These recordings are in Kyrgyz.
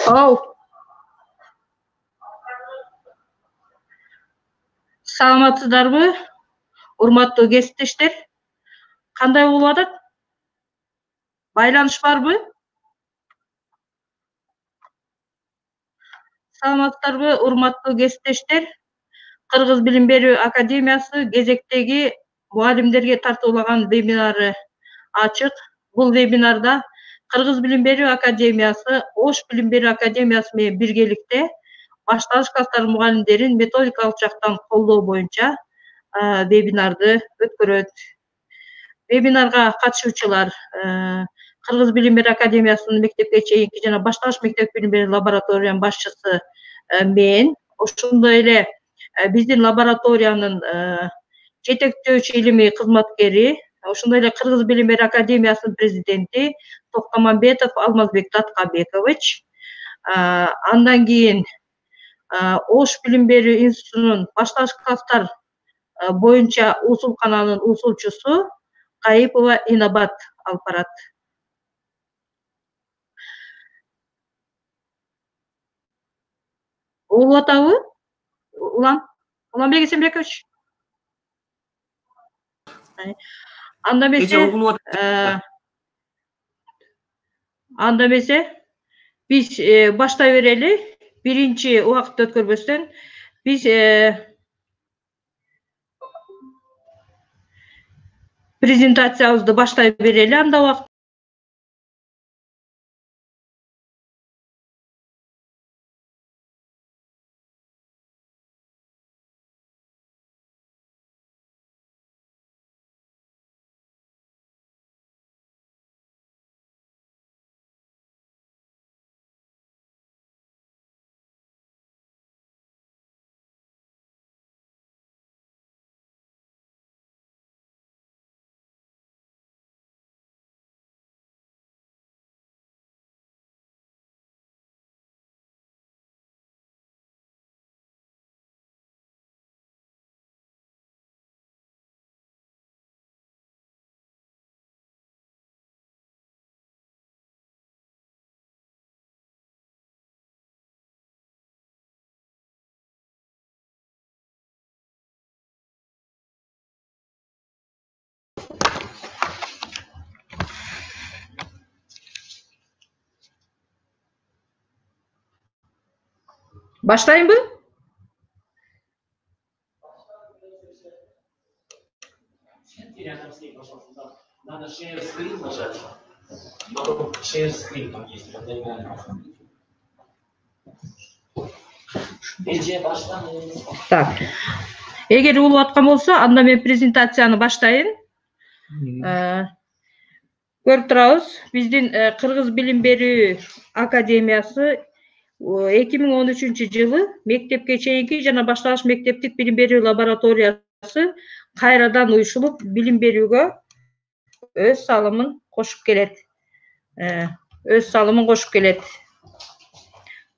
Ау. Саламатсыздарбы? Урматтуу кесиптештер. Кандай болуп атат? Байланыш барбы? Саламатсыздарбы, урматтуу кесиптештер? Кыргыз Билим Берүү Академиясы кезектеги мугалимдерге тартуулаган вебинары ачык. Бул вебинарда Кыргыз Билим Берүү Академиясы Ош Билим Берүү Академиясы менен биргеликте башталыш класстар мугалимдерин методикалык жактан колдоо боюнча вебинарды өткөрөт. Вебинарга катышуучулар Кыргыз Билим Берүү Академиясынын мектепке чейинки жана башталыш мектеп билим берүү лабораториянын башчысы мен, ошондой эле биздин лабораториянын жетектөөчү илимий кызматкери, ошондой эле Кыргыз Билим Берүү Академиясынын президенти Токтомамбетов Алмазбек Таткабекович, андан кийин Ош Билим Берүү институтунун башталыш класстар боюнча усулкананын усулчусу Кайыпова Инабат алып барат. Угуп атабы? Уланбек Эсенбекович. Анда эмесе биз баштай берели. Биринчи убакытты өткөрбөстөн биз презентациябызды баштай берели анда убакыт. Баштайынбы? Надо share screen нажать. Потом share screen там есть. Так. Эгер угуп аткан болсо, анда мен презентацияны баштайын. Көрүп турабыз, биздин Кыргыз Билим Берүү Академиясы 2013-жылы мектепке чейинки жана башталыш мектептик билим берүү лабораториясы кайрадан уюшулуп, билим берүүгө өз салымын кошуп келет.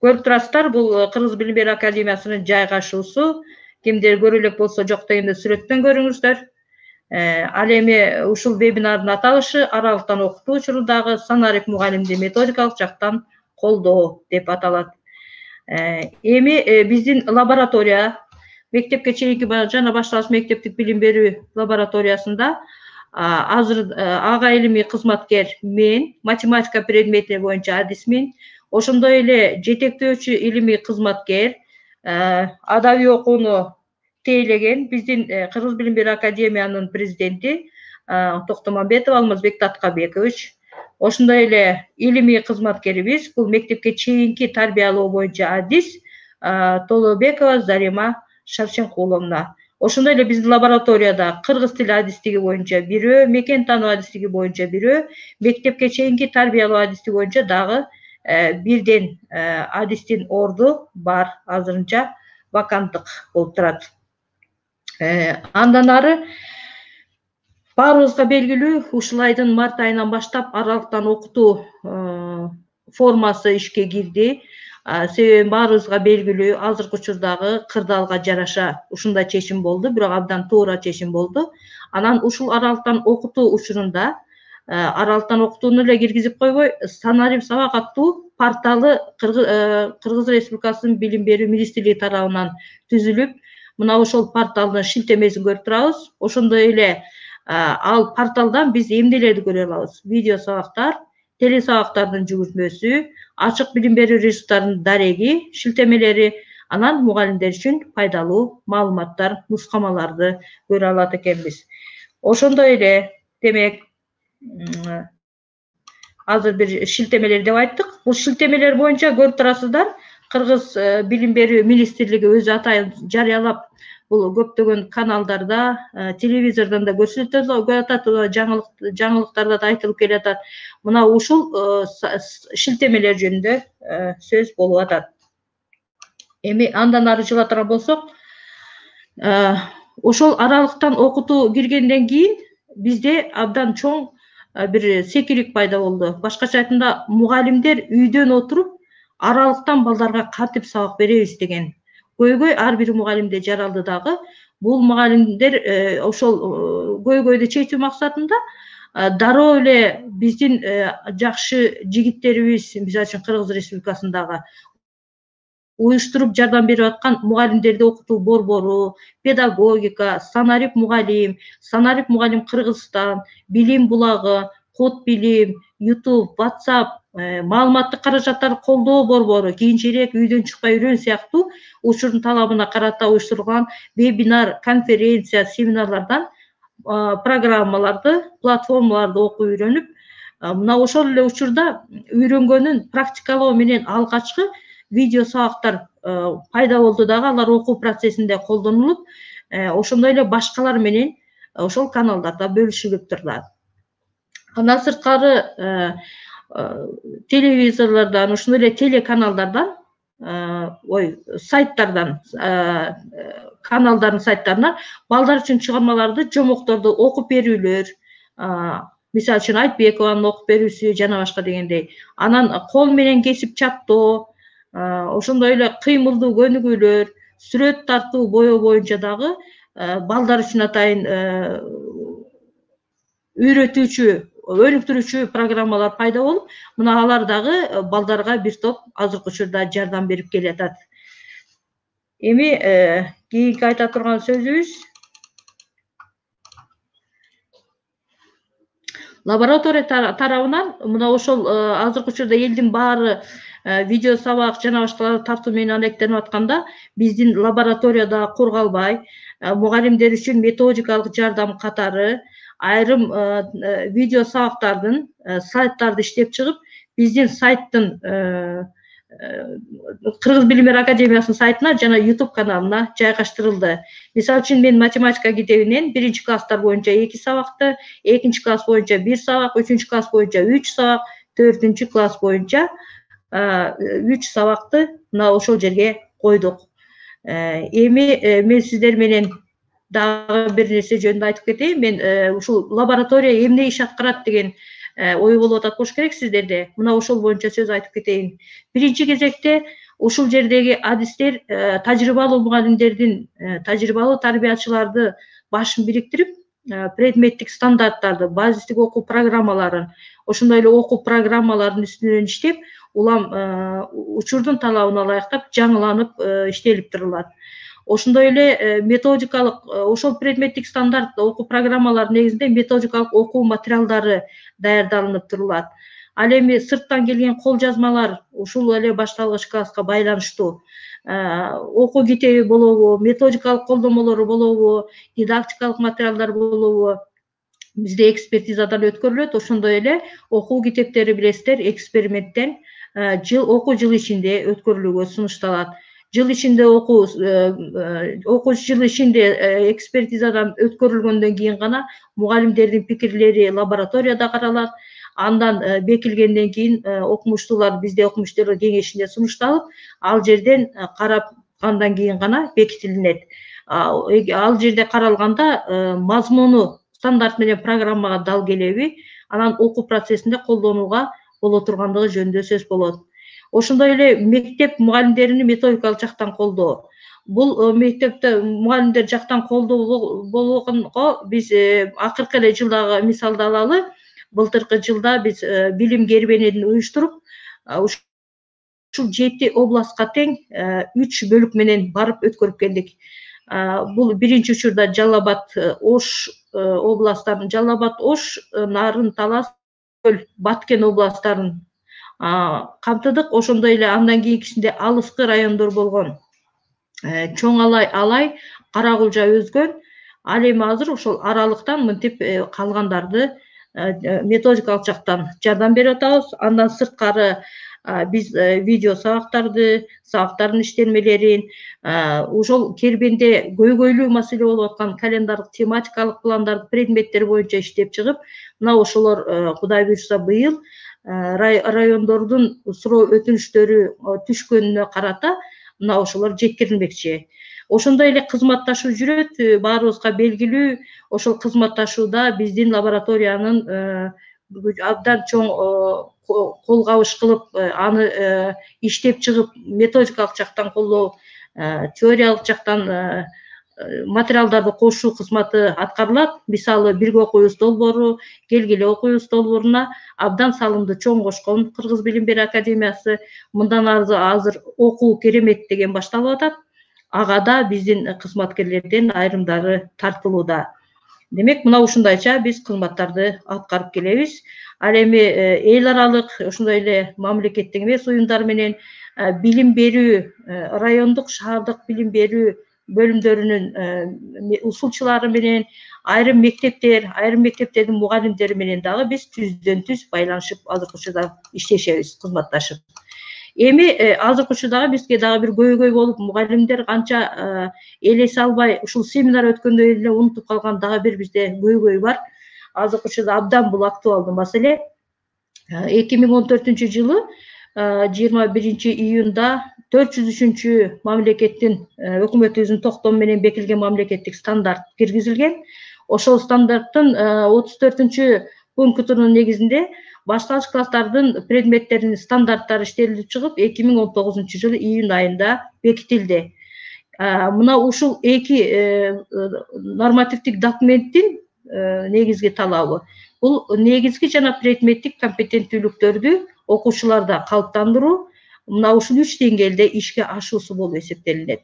Көрүп турасыздар, бул Кыргыз Билим Берүү Академиясынын жайгашуусу. Кимдер көрө элек болсо, жок дегенде сүрөттөн көрүңүздөр. Ал эми ушул вебинардын аталышы аралыктан окутуу учурundагы санарик мугалимди методикалык жактан колдоо деп аталат. Эми биздин лаборатория мектепке чейинки жана башталыш мектептик билим берүү лабораториясында азыр ага илимий кызматкер мен, математика предмети боюнча адисмин, ошондой эле жетектөөчү илимий кызматкер, адабий окууну тейлеген биздин Кыргыз Билим Берүү Академиянын президенти Токтомамбетов Алмазбек Таткабекович, ошондой эле илимий кызматкерибиз, бул мектепке чейинки тарбиялоо боюнча адис Толобекова Зарима Шарченкуловна. Ошондой эле биздин лабораторияда кыргыз тили адистиги боюнча бирөө, мекен таануу адистиги боюнча бирөө, мектепке чейинки тарбиялоо адистиги боюнча дагы бирден адистин орду бар, азырынча ваканттык болуп турат. Андан ары баарыбызга белгилүү, ушул айдын март айынан баштап аралыктан окутуу формасы ишке кирди. Себеби баарыбызга белгилүү, азыркы учурдагы кырдаалга жараша ушундай чечим болду, бирок абдан туура чечим болду. Анан ушул аралыктан окутуу учурунда аралыктан окутууну эле киргизип койбой, санарим сабак аттуу порталы Кыргыз Республикасынын Билим берүү министрлиги тарабынан түзүлүп, мына ошол порталдын шилтемесин көрүп турабыз. Ошондой эле ал порталдан биз эмнелерди көрө алабыз? Видео сабактар, телесабактардын жүгүртмөсү, ачык билим берүү ресурстарынын дареги, шилтемелери, анан мугалимдер үчүн пайдалуу маалыматтар, нускамаларды көрө алат экенбиз. Ошондой эле, демек, азыр бир шилтемелер деп айттык. Бул шилтемелер боюнча көрүп турасыздар, Кыргыз билим берүү министрлиги өзү атайын жарыялап, бул көптөгөн каналдарда, телевизордон да көрсөтүлүп атат, жаңылыктарда да айтылып келатат. Мына ушул шилтемелер жөнүндө сөз болуп атат. Эми андан ары жылатыран болсок, ошол аралыктан окутуу киргенден кийин бизде абдан чоң бир секирик пайда болду. Башкача айтканда, мугалимдер үйдөн отуруп аралыктан балдарга кантип сабак беребиз деген көйгөй ар бир мугалимде жаралды дагы. Бул мугалимдер ошол көйгөйдү чечүү максатында дароо эле биздин жакшы жигиттерибиз, мисалы үчүн Кыргыз Республикасындагы уюштуруп жардам берип аткан мугалимдерди окутуу борбору, педагогика, Санарип мугалим Кыргызстан, Билим булагы, Код билим, YouTube, WhatsApp, маалыматтык каражаттарды колдоо борбору, кийинчерээк үйдөн чыкпай үйрөн сыяктуу учурдун талабына карата уюштурулган вебинар, конференция, семинарлардан программаларды, платформаларды окуп үйрөнүп, мына ошол эле учурда үйрөнгөнүн практикалоо менен алгачкы видео сабактар пайда болду дагы, алар окуу процессинде колдонулуп, ошондой эле башкалар менен ошол каналдарда бөлүшүлүп турат. Андан сырткары телевизорлордон, ошондой эле телеканалдардан, сайттардан, каналдардын сайттарынан балдар үчүн чыгармаларды, жомокторду окуп берүүлөр, мисалы үчүн Айтбекованын окуп берүүсү жана башка дегендей. Анан кол менен кесип чаптоо, ошондой эле кыймылдуу көнүгүүлөр, сүрөт тартуу, боёо боюнча дагы балдар үчүн атайын үйрөтүүчү, өнүктүрүүчү программалар пайда болуп, мына алар дагы балдарга бир топ азыркы учурда жардам берип келатат. Эми кийинки айта турган сөзүбүз лаборатория тарабынан мына ошол азыркы учурда элдин баары видео сабак жана башкаларды тартуу менен алектенип атканда, биздин лаборатория да кургалбай, мугалимдер үчүн методикалык жардам катары айрым видео сабактардын сайттарды иштеп чыгып, биздин сайттын Кыргыз билим берүү академиясынын сайтына жана YouTube каналына жайгаштырылды. Мисалы үчүн, мен математика китебинен 1-класстар боюнча 2 сабакты, 2-класс боюнча 1 сабак, 3-класс боюнча 3 сабак, 4-класс боюнча 3 сабакты мына ошол жерге койдук. Эми мен сиздер менен дагы бир нерсе жөнүндө айтып кетейин. Мен ушул лаборатория эмне иш аткарат деген ой болуп атат болуш керек сиздерде. Мына ошол боюнча сөз айтып кетейин. Биринчи кезекте ушул жердеги адистер тажрыйбалуу мугалимдердин, тажрыйбалуу тарбиячыларды башын бириктирип, предметтик стандарттарды, базистик окуу программаларын, ошондой эле окуу программаларынын үстүнөн иштеп, улам учурдун талабына ылайыктап жаңыланып иштелип турулат. Ошондой эле методикалык, ошол предметтик стандарт окуу программаларынын негизинде методикалык окуу материалдары даярдалынып турулат. Ал эми сырттан келген кол жазмалар, ушул эле башталгыч класска байланыштуу окуу китеби болобу, методикалык колдомолору болобу, дидактикалык материалдар болобу, бизде экспертизадан өткөрүлөт. Ошондой эле окуу китептери, билесиздер, эксперименттен окуу жылы ичинде өткөрүлүүгө сунушталат. Жыл ичинде окуу жыл ичинде экспертизадан өткөрүлгөндөн кийин гана мугалимдердин пикирлери лабораторияда каралат. Андан бекилгенден кийин окумуштуулар, бизде окумуштуулар кеңешинде сунушталып, ал жерден карапкандан кийин гана бекитилинет. Ал жерде каралганда мазмуну стандарт менен программага дал келеби, анан окуу процессинде колдонууга боло тургандыгы жөнүндө сөз болот. Ошондой эле мектеп мугалимдерини методикалык жактан колдоо. Бул мектепте мугалимдер жактан колдоо болгонго биз акыркы эле жылдагы мисалды алалы. Былтыркы жылда биз билим кербенин уюштуруп, ушул 7 областка тең 3 бөлүк менен барып өткөрүп келдик. Бул биринчи учурда Жалал Абад, Ош областтарын, Жалал Абад, Ош, Нарын, Талас, Баткен областтарын камтыдык. Ошондой эле андан кийинкисинде алыскы райондор болгон Чоң Алай, Каракулжа өзгөн. Ал эми азыр ошол аралыктан мынтип калгандарды методикалык жактан жардам берип атабыз. Андан сырткары биз видео сабактарды, сабактардын иштелмелерин, ошол Кербенде көйгөйлүү маселе болуп аткан календардык тематикалык пландарды предметтер боюнча иштеп чыгып, мына ошолор Кудай буйрса быйыл райондордун суроо өтүнүчтөрү түшкөнүнө карата мына ошолор жеткирилмекчи. Ошондой эле кызматташуу жүрөт, баарыбызга белгилүү. Ошол кызматташууда биздин лабораториянын абдан чоң колгабыш кылып, аны иштеп чыгып, методикалык жактан колдоо, теориялык жактан материалдарды кошуу кызматы аткарылат. Мисалы, бирге окуйбуз долбоору, келгиле окуйбуз долбооруна абдан салымды чоң кошкон Кыргыз Билим Берүү Академиясы. Мындан азыр окуу керемет деген башталып атат. Ага да биздин кызматкерлерден айрымдары тартылууда. Демек, мына ушундайча биз кызматтарды аткарып келебиз. Ал эми эл аралык, ошондой эле мамлекеттик эмес уюмдар менен билим берүү, райондук, шаардык билим берүү бөлүмдөрүнүн усулчулары менен, айрым мектептердин мугалимдери менен дагы биз түздөн түз байланышып азыркы учурда иштешебиз, кызматташып. Эми азыркы учурда бизге дагы бир көйгөй болуп, мугалимдер канча элесе албай, ушул семинар өткөндөн эле унутуп калган дагы бир бизде көйгөй бар. Азыркы учурда абдан бул актуалдуу маселе. 2014 жылы 21 июнда 403 мамлекеттин өкмөтүбүздүн токтому менен бекитилген мамлекеттик стандарт киргизилген. Ошол стандарттын 34 пунктунун негизинде башталгыч класстардын предметтеринин стандарттары иштелип чыгып, 2019 жылы июнь айында бекитилди. Мына ушул эки нормативдик документтин негизги талабы бул негизги жана предметтик компетенттүүлүктөрдү окуучуларда калыптандыруу, мына ушул 3 деңгээлде ишке ашуусу болуп эсептелинет.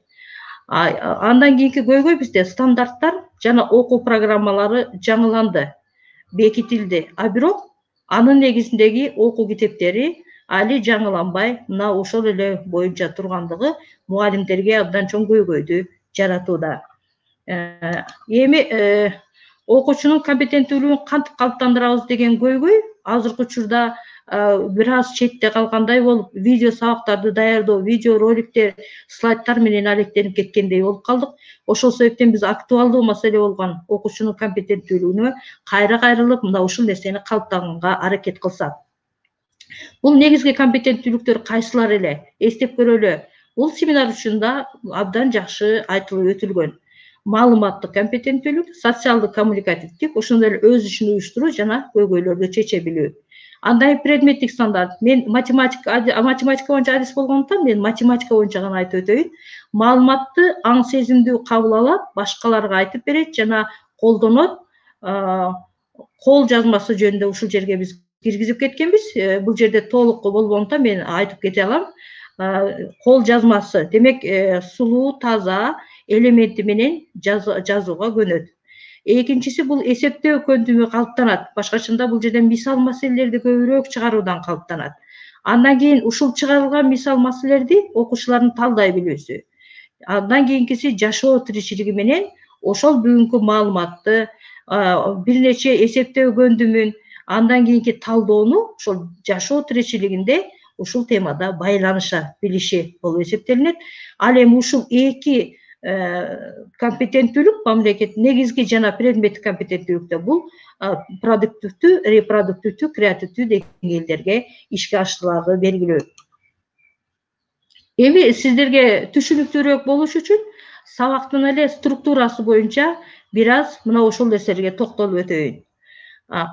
Андан кийинки көйгөй бизде стандарттар жана окуу программалары жаңыланды, бекитилди, бирок анын негизиндеги окуу китептери али жаңыланбай, мына ошол эле боюнча тургандыгы мугалимдерге абдан чоң көйгөйдү жаратууда. Эми окуучунун компетенттүүлүгүн кантип калыптандырабыз деген көйгөй азыркы учурда бир аз четте калгандай болуп, видео сабактарды даярдоо, видео роликтер, слайдтар менен алектенип кеткендей болуп калдык. Ошол себептен биз актуалдуу маселе болгон окуучунун компетенттүүлүгүнө кайра кайрылып, мына ушул нерсени калыптанганга аракет кылсак. Бул негизги компетенттүүлүктөр кайсылар эле? Эстеп көрөлү. Бул семинар учурунда абдан жакшы айтылып өтүлгөн. Маалыматтык компетенттүүлүк, социалдык коммуникативдик, ошондой эле өз ишин уюштуруу жана көйгөйлөрдү чече билүү. Андай предметтик стандарт. Мен математика боюнча адис болгондуктан мен математика боюнча гана айтып өтөйүн. Маалыматты аң сезимдүү кабыл алат, башкаларга айтып берет жана колдонот. Кол жазмасы жөнүндө ушул жерге биз киргизип кеткенбиз. Бул жерде толук болбогондуктан мен айтып кете алам. Кол жазмасы, демек сулуу, таза элементи менен жазууга көнөт. Экинчиси бул эсептөө көндүмү калыптанат. Башкачында бул жерде мисал маселелерди көбүрөөк чыгаруудан калыптанат. Андан кийин ушул чыгарылган мисал маселелерди окуучулардын талдай билүүсү. Андан кийинкиси жашоо тиричилиги менен ошол бүгүнкү маалыматты, бир нече эсептөө көндүмүн, андан кийинки талдоону ошол жашоо тиричилигинде ушул темада байланыша билиши болуп эсептелинет. Ал эми ушул эки компетенттүүлүк, мамлекет негизги жана предметтик компетенттүүлүктө бул продуктивдүү, репродуктивдүү, креативдүү деңгээлдерге ишке ашырылары белгилүү. Эми сиздерге түшүнүктүүрөөк болуш үчүн сабактын эле структурасы боюнча бир аз мына ошол нерселерге токтолуп өтөйүн.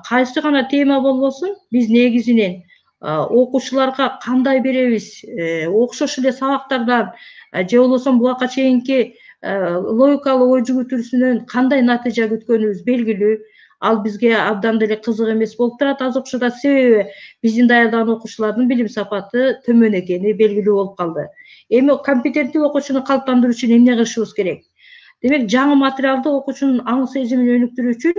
Кайсы гана тема болбосун, биз негизинен окуучуларга кандай беребиз, окшош эле сабактардан же болбосо буга чейинки логикалык ой жүгүртүүсүнөн кандай натыйжа күткөнүбүз белгилүү. ал бизге абдан деле кызык эмес болуп турат аз окушуда, себеби биздин даярдаган окуучулардын билим сапаты төмөн экени белгилүү болуп калды. Эми компетенттүү окуучуну калыптандыруу үчүн эмне кылышыбыз керек? Демек, жаңы материалды окуучунун аң сезимин өнүктүрүү үчүн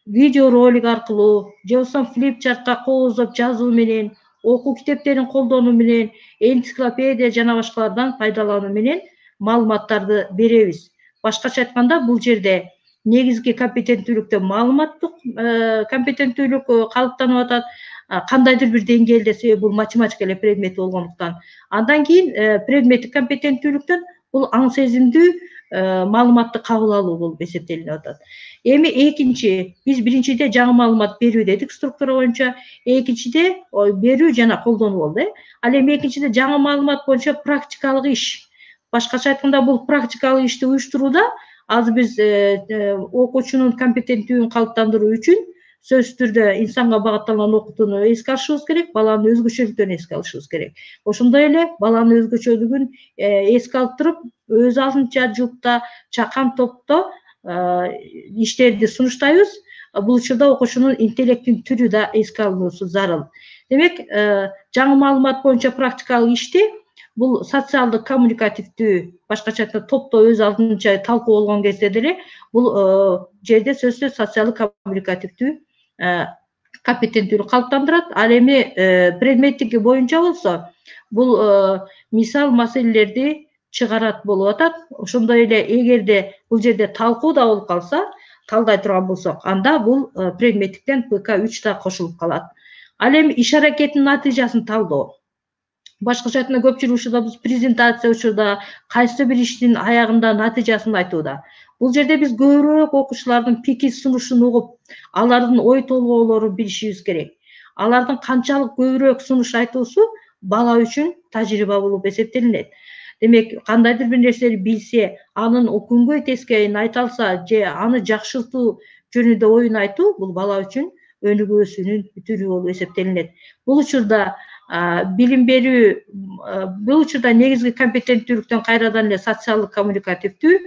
видео ролик аркылуу же болбосо флипчартка кооздоп жазуу менен, окуу китептерин колдонуу менен, энциклопедия жана башкалардан пайдалануу менен маалыматтарды беребиз. Башкача айтканда, бул жерде негизги компетенттүүлүктө маалыматтык компетенттүүлүк калыптанып атат, кандайдыр бир деңгээлде, себеби бул математика эле предмети болгондуктан. Андан кийин предметтик компетенттүүлүктөн бул аң сезимдүү маалыматты кабыл алуу болуп эсептелип атат. Эми экинчи, биз биринчиде жаңы маалымат берүү дедик структура боюнча, экинчиде берүү жана колдонуу болду. Ал эми экинчиде жаңы маалымат боюнча практикалык иш. Башкача айтканда, бул практикалык ишти уюштурууда азыр биз окуучунун компетенттүүлүгүн калыптандыруу үчүн сөзсүз түрдө инсанга багытталган окутууну эске алышыбыз керек, баланын өзгөчөлүктөрүн эске алышыбыз керек. Ошондой эле баланын өзгөчөлүгүн эске алып туруп, өз алдынча жуупта, чакан топто иштерди сунуштайбыз. Бул учурда окуучунун интеллектин түрү да эске алынуусу зарыл. Демек, жаңы маалымат боюнча практикалык ишти бул социалдык коммуникативдүү, башкача айтканда топто өз алдынча талкуу болгон кезде деле бул жерде сөзсүз социалдык коммуникативдүү компетенттүүлүк калыптандырат. Ал эми предметтики боюнча болсо, бул мисал маселелерди чыгарат болуп атат. Ошондой эле эгерде бул жерде талкуу да болуп калса, талдай турган болсок, анда бул предметтиктен ПК3 да кошулуп калат. Ал эми иш аракеттин натыйжасын талдоо. Башкача айтканда, көпчүлүк учурда биз презентация учурда кайсы бир иштин аягында натыйжасын айтууда. Бул жерде биз көбүрөөк окуучулардын пикир сунушун угуп, алардын ой толгоолорун билишибиз керек. Алардын канчалык көбүрөөк сунуш айтуусу бала үчүн тажрыйба болуп эсептелинет. Демек, кандайдыр бир нерсени билсе, анын күнгөй тескейин айта алса же аны жакшыртуу жөнүндө оюн айтуу, бул бала үчүн өнүгүүсүнүн түрү болуп эсептелинет. Бул учурда билим берүү, бул учурда негизги компетенттүүлүктөн кайрадан эле социалдык коммуникативдүү,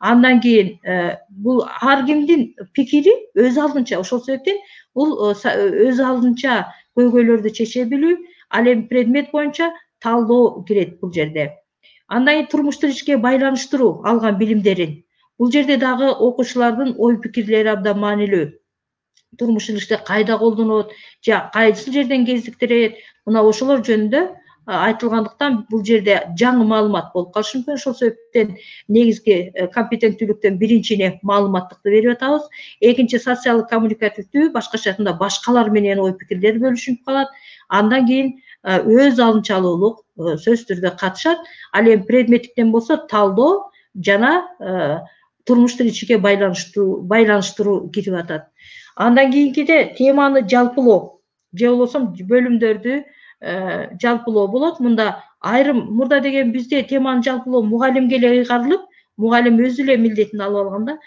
андан кийин бул ар кимдин пикири өз алдынча, ошол себептен бул өз алдынча көйгөйлөрдү чече билүү, ал эми предмет боюнча талдоо кирет бул жерде. Андан кийин турмуш тиричке байланыштыруу алган билимдерин. Бул жерде дагы окуучулардын ой пикирлери абдан маанилүү. Турмуш тиричте кайда колдонот, же кайсы жерден кезиктирет, мына ошолор жөнүндө айтылгандыктан бул жерде жаңы маалымат болуп калышы мүмкүн. Ошол себептен негизги компетенттүүлүктөн биринчине маалыматтыкты берип атабыз. Экинчи социалдык коммуникативдүү, башкача айтканда башкалар менен ой пикирлер бөлүшүп калат. Андан кийин өз алынчалуулук сөзсүз түрдө катышат. Ал эми предметтиктен болсо талдоо жана турмуш тиричикке байланыштыруу кирип атат. Андан кийинкиде теманы жалпылоо же болбосо бөлүмдөрдү жалпылоо болот. Мында айрым мурда деген бизде теманы жалпылоо мугалимге эле ыйгарылып, мугалим өзү эле милдетин алып алганда,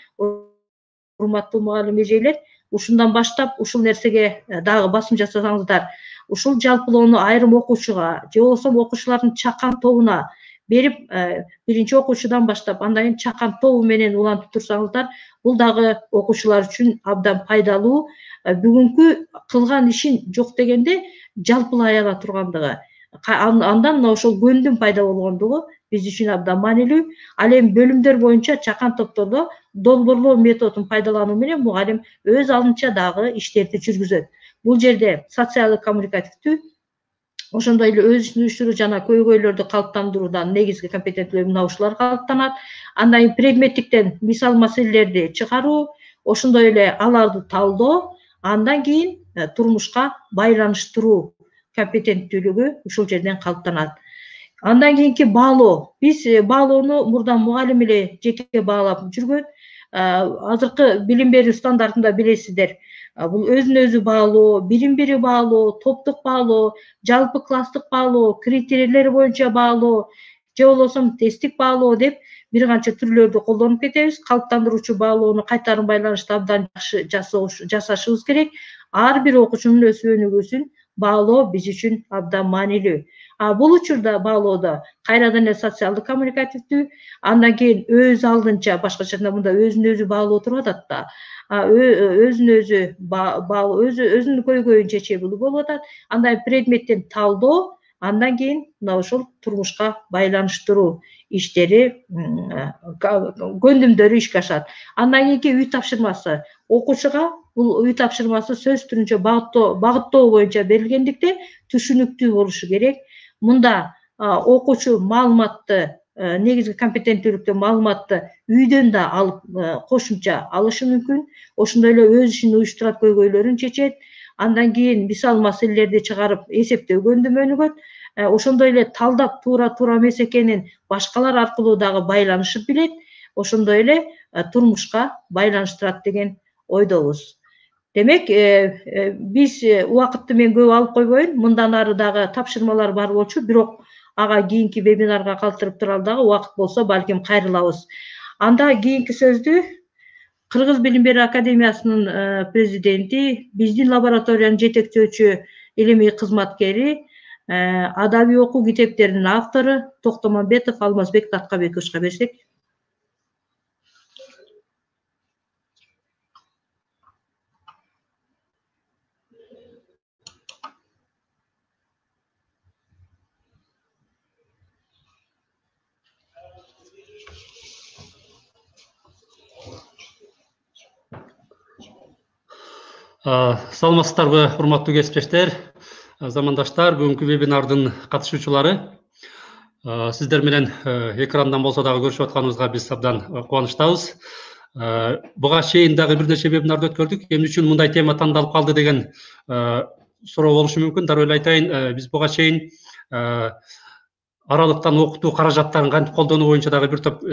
урматтуу мугалим эжелер, ушундан баштап ушул нерсеге дагы басым жасасаңыздар, ушул жалпылоону айрым окуучуга же болбосо окуучулардын чакан тобуна берип, биринчи окуучудан баштап андан кийин чакан тобу менен улантып турсаңыздар, бул дагы окуучулар үчүн абдан пайдалуу. Бүгүнкү кылган ишин жок дегенде жалпылай ала тургандыгы, андан мына ошол көндүм пайда болгондугу биз үчүн абдан маанилүү. Ал эми бөлүмдөр боюнча чакан топтордо долбоорлоо методун пайдалануу менен мугалим өз алдынча дагы иштерди жүргүзөт. Бул жерде социалдык коммуникативдүү, ошондой эле өз ишин уюштуруу жана көйгөйлөрдү калыптандыруудан негизги компетенттүүлүк мына ушулар калыптанат. Андан кийин предметтиктен мисал маселелерди чыгаруу, ошондой эле аларды талдоо, андан кийин турмушка байланыштыруу компетенттүүлүгү ушул жерден калыптанат. Андан кийинки баалоо. Биз баалоону мурда мугалим эле жеке баалап жүргөн. Азыркы билим берүү стандартында билесиздер, бул өзүнө өзү баалоо, бирин бири баалоо, топтук баалоо, жалпы класстык баалоо, критерийлер боюнча баалоо, же болбосо тесттик баалоо деп бир канча түрлөрдү колдонуп кетебиз. Калыптандыруучу баалоону кайтарым байланышты абдан жакшы жасашыбыз керек. Ар бир окуучунун өсүп өнүгүүсүн баалоо биз үчүн абдан маанилүү. Бул учурда баалоодо кайрадан эле социалдык коммуникативдүү, андан кийин өз алдынча башкача айтканда мында өзүн өзү баалоо туруп атат да. Өзүн өзү баалоо, өзүнүн көйгөйүн чечебилүү болуп атат. Андан предметтен талдоо, андан кийин мына ошол турмушка байланыштыруу иштери, көндүмдөрү ишке ашат. Андан кийинки үй тапшырмасы окуучуга бул үй тапшырмасы сөз түрүнчө багыттоо боюнча берилгендиктен түшүнүктүү болушу керек. Мында окуучу маалыматты, негизги компетенттүүлүктүү маалыматты үйдөн да алып кошумча алышы мүмкүн. Ошондой эле өз ишин уюштурат, көйгөйлөрүн чечет. Андан кийин мисал маселелерди чыгарып эсептөө көндүмөнүгөт. Ошондой эле талдап туура эмес экенин башкалар аркылуу дагы байланышып билет. Ошондой эле турмушка байланыштырат деген ойдобуз. Демек, биз убакытты мен көп алып койбойм. Мындан ары дагы тапшырмалар бар болчу, бирок ага кийинки вебинарга калтырып туралы дагы убакыт болсо балким кайрылабыз. Анда кийинки сөздү Кыргыз Билим берүү академиясынын президенти, биздин лабораториянын жетекчөөчү илимий кызматкери, адабий окуу китептеринин автору Токтомамбетов Алмазбек Таткабековичке берсек. Саламатсыздарбы, урматтуу кесиптештер, замандаштар, бүгүнкү вебинардын катышуучулары. Сиздер менен экрандан болсо дагы көрүшүп атканыбызга биз абдан кубанычтабыз. Буга чейин дагы бир нече вебинарды өткөрдүк. Эмне үчүн мындай тема тандалып калды деген суроо болушу мүмкүн. Дароо эле айтайын, биз буга чейин аралыктан окутуу каражаттарын кантип колдонуу боюнча дагы бир топ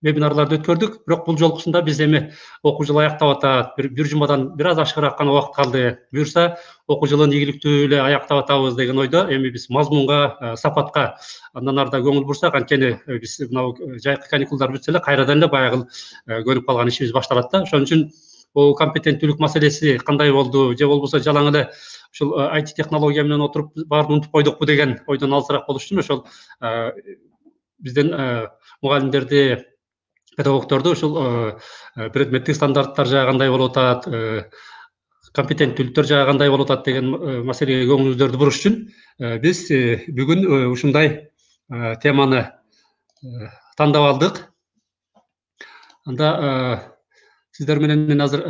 вебинарларды өткөрдүк. Бирок бул жолкусунда биз эми окуу жылы аяктап атат, бир жумадан бир аз ашыгыраак гана убакыт калды. Буюрса окуу жылын ийгиликтүү эле аяктап атабыз деген ойдо эми биз мазмунга, сапатка андан ары да көңүл бурсак, анткени биз мына жайкы каникулдар бүтсө эле кайрадан эле баягы көнүп калган ишибиз башталат да. Ошон үчүн бул компетенттүүлүк маселеси кандай болду, же болбосо жалаң эле ушул IT технология менен отуруп баарын унутуп койдукпу деген ойдон алысыраак болуш үчүн ошол бизден мугалимдерди, педагогдорду ушул предметтик стандарттар жагы кандай болуп атат, компетенттүүлүктөр жагы кандай болуп атат деген маселеге көңүлүңүздөрдү буруш үчүн биз бүгүн ушундай теманы тандап алдык. Анда сиздер менен мен азыр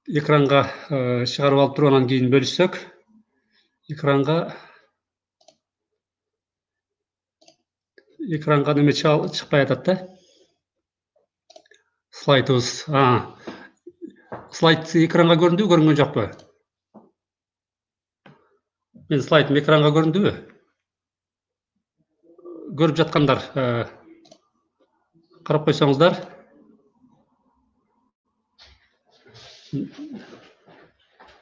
экранга чыгарып алып туруп анан кийин бөлүшсөк, экранга неме чыкпай атат да. Слайдыбыз. Слайд экранга көрүндүбү, көрүнгөн жокпу? Мен слайдым экранга көрүндүбү? Көрүп жаткандар карап койсоңуздар.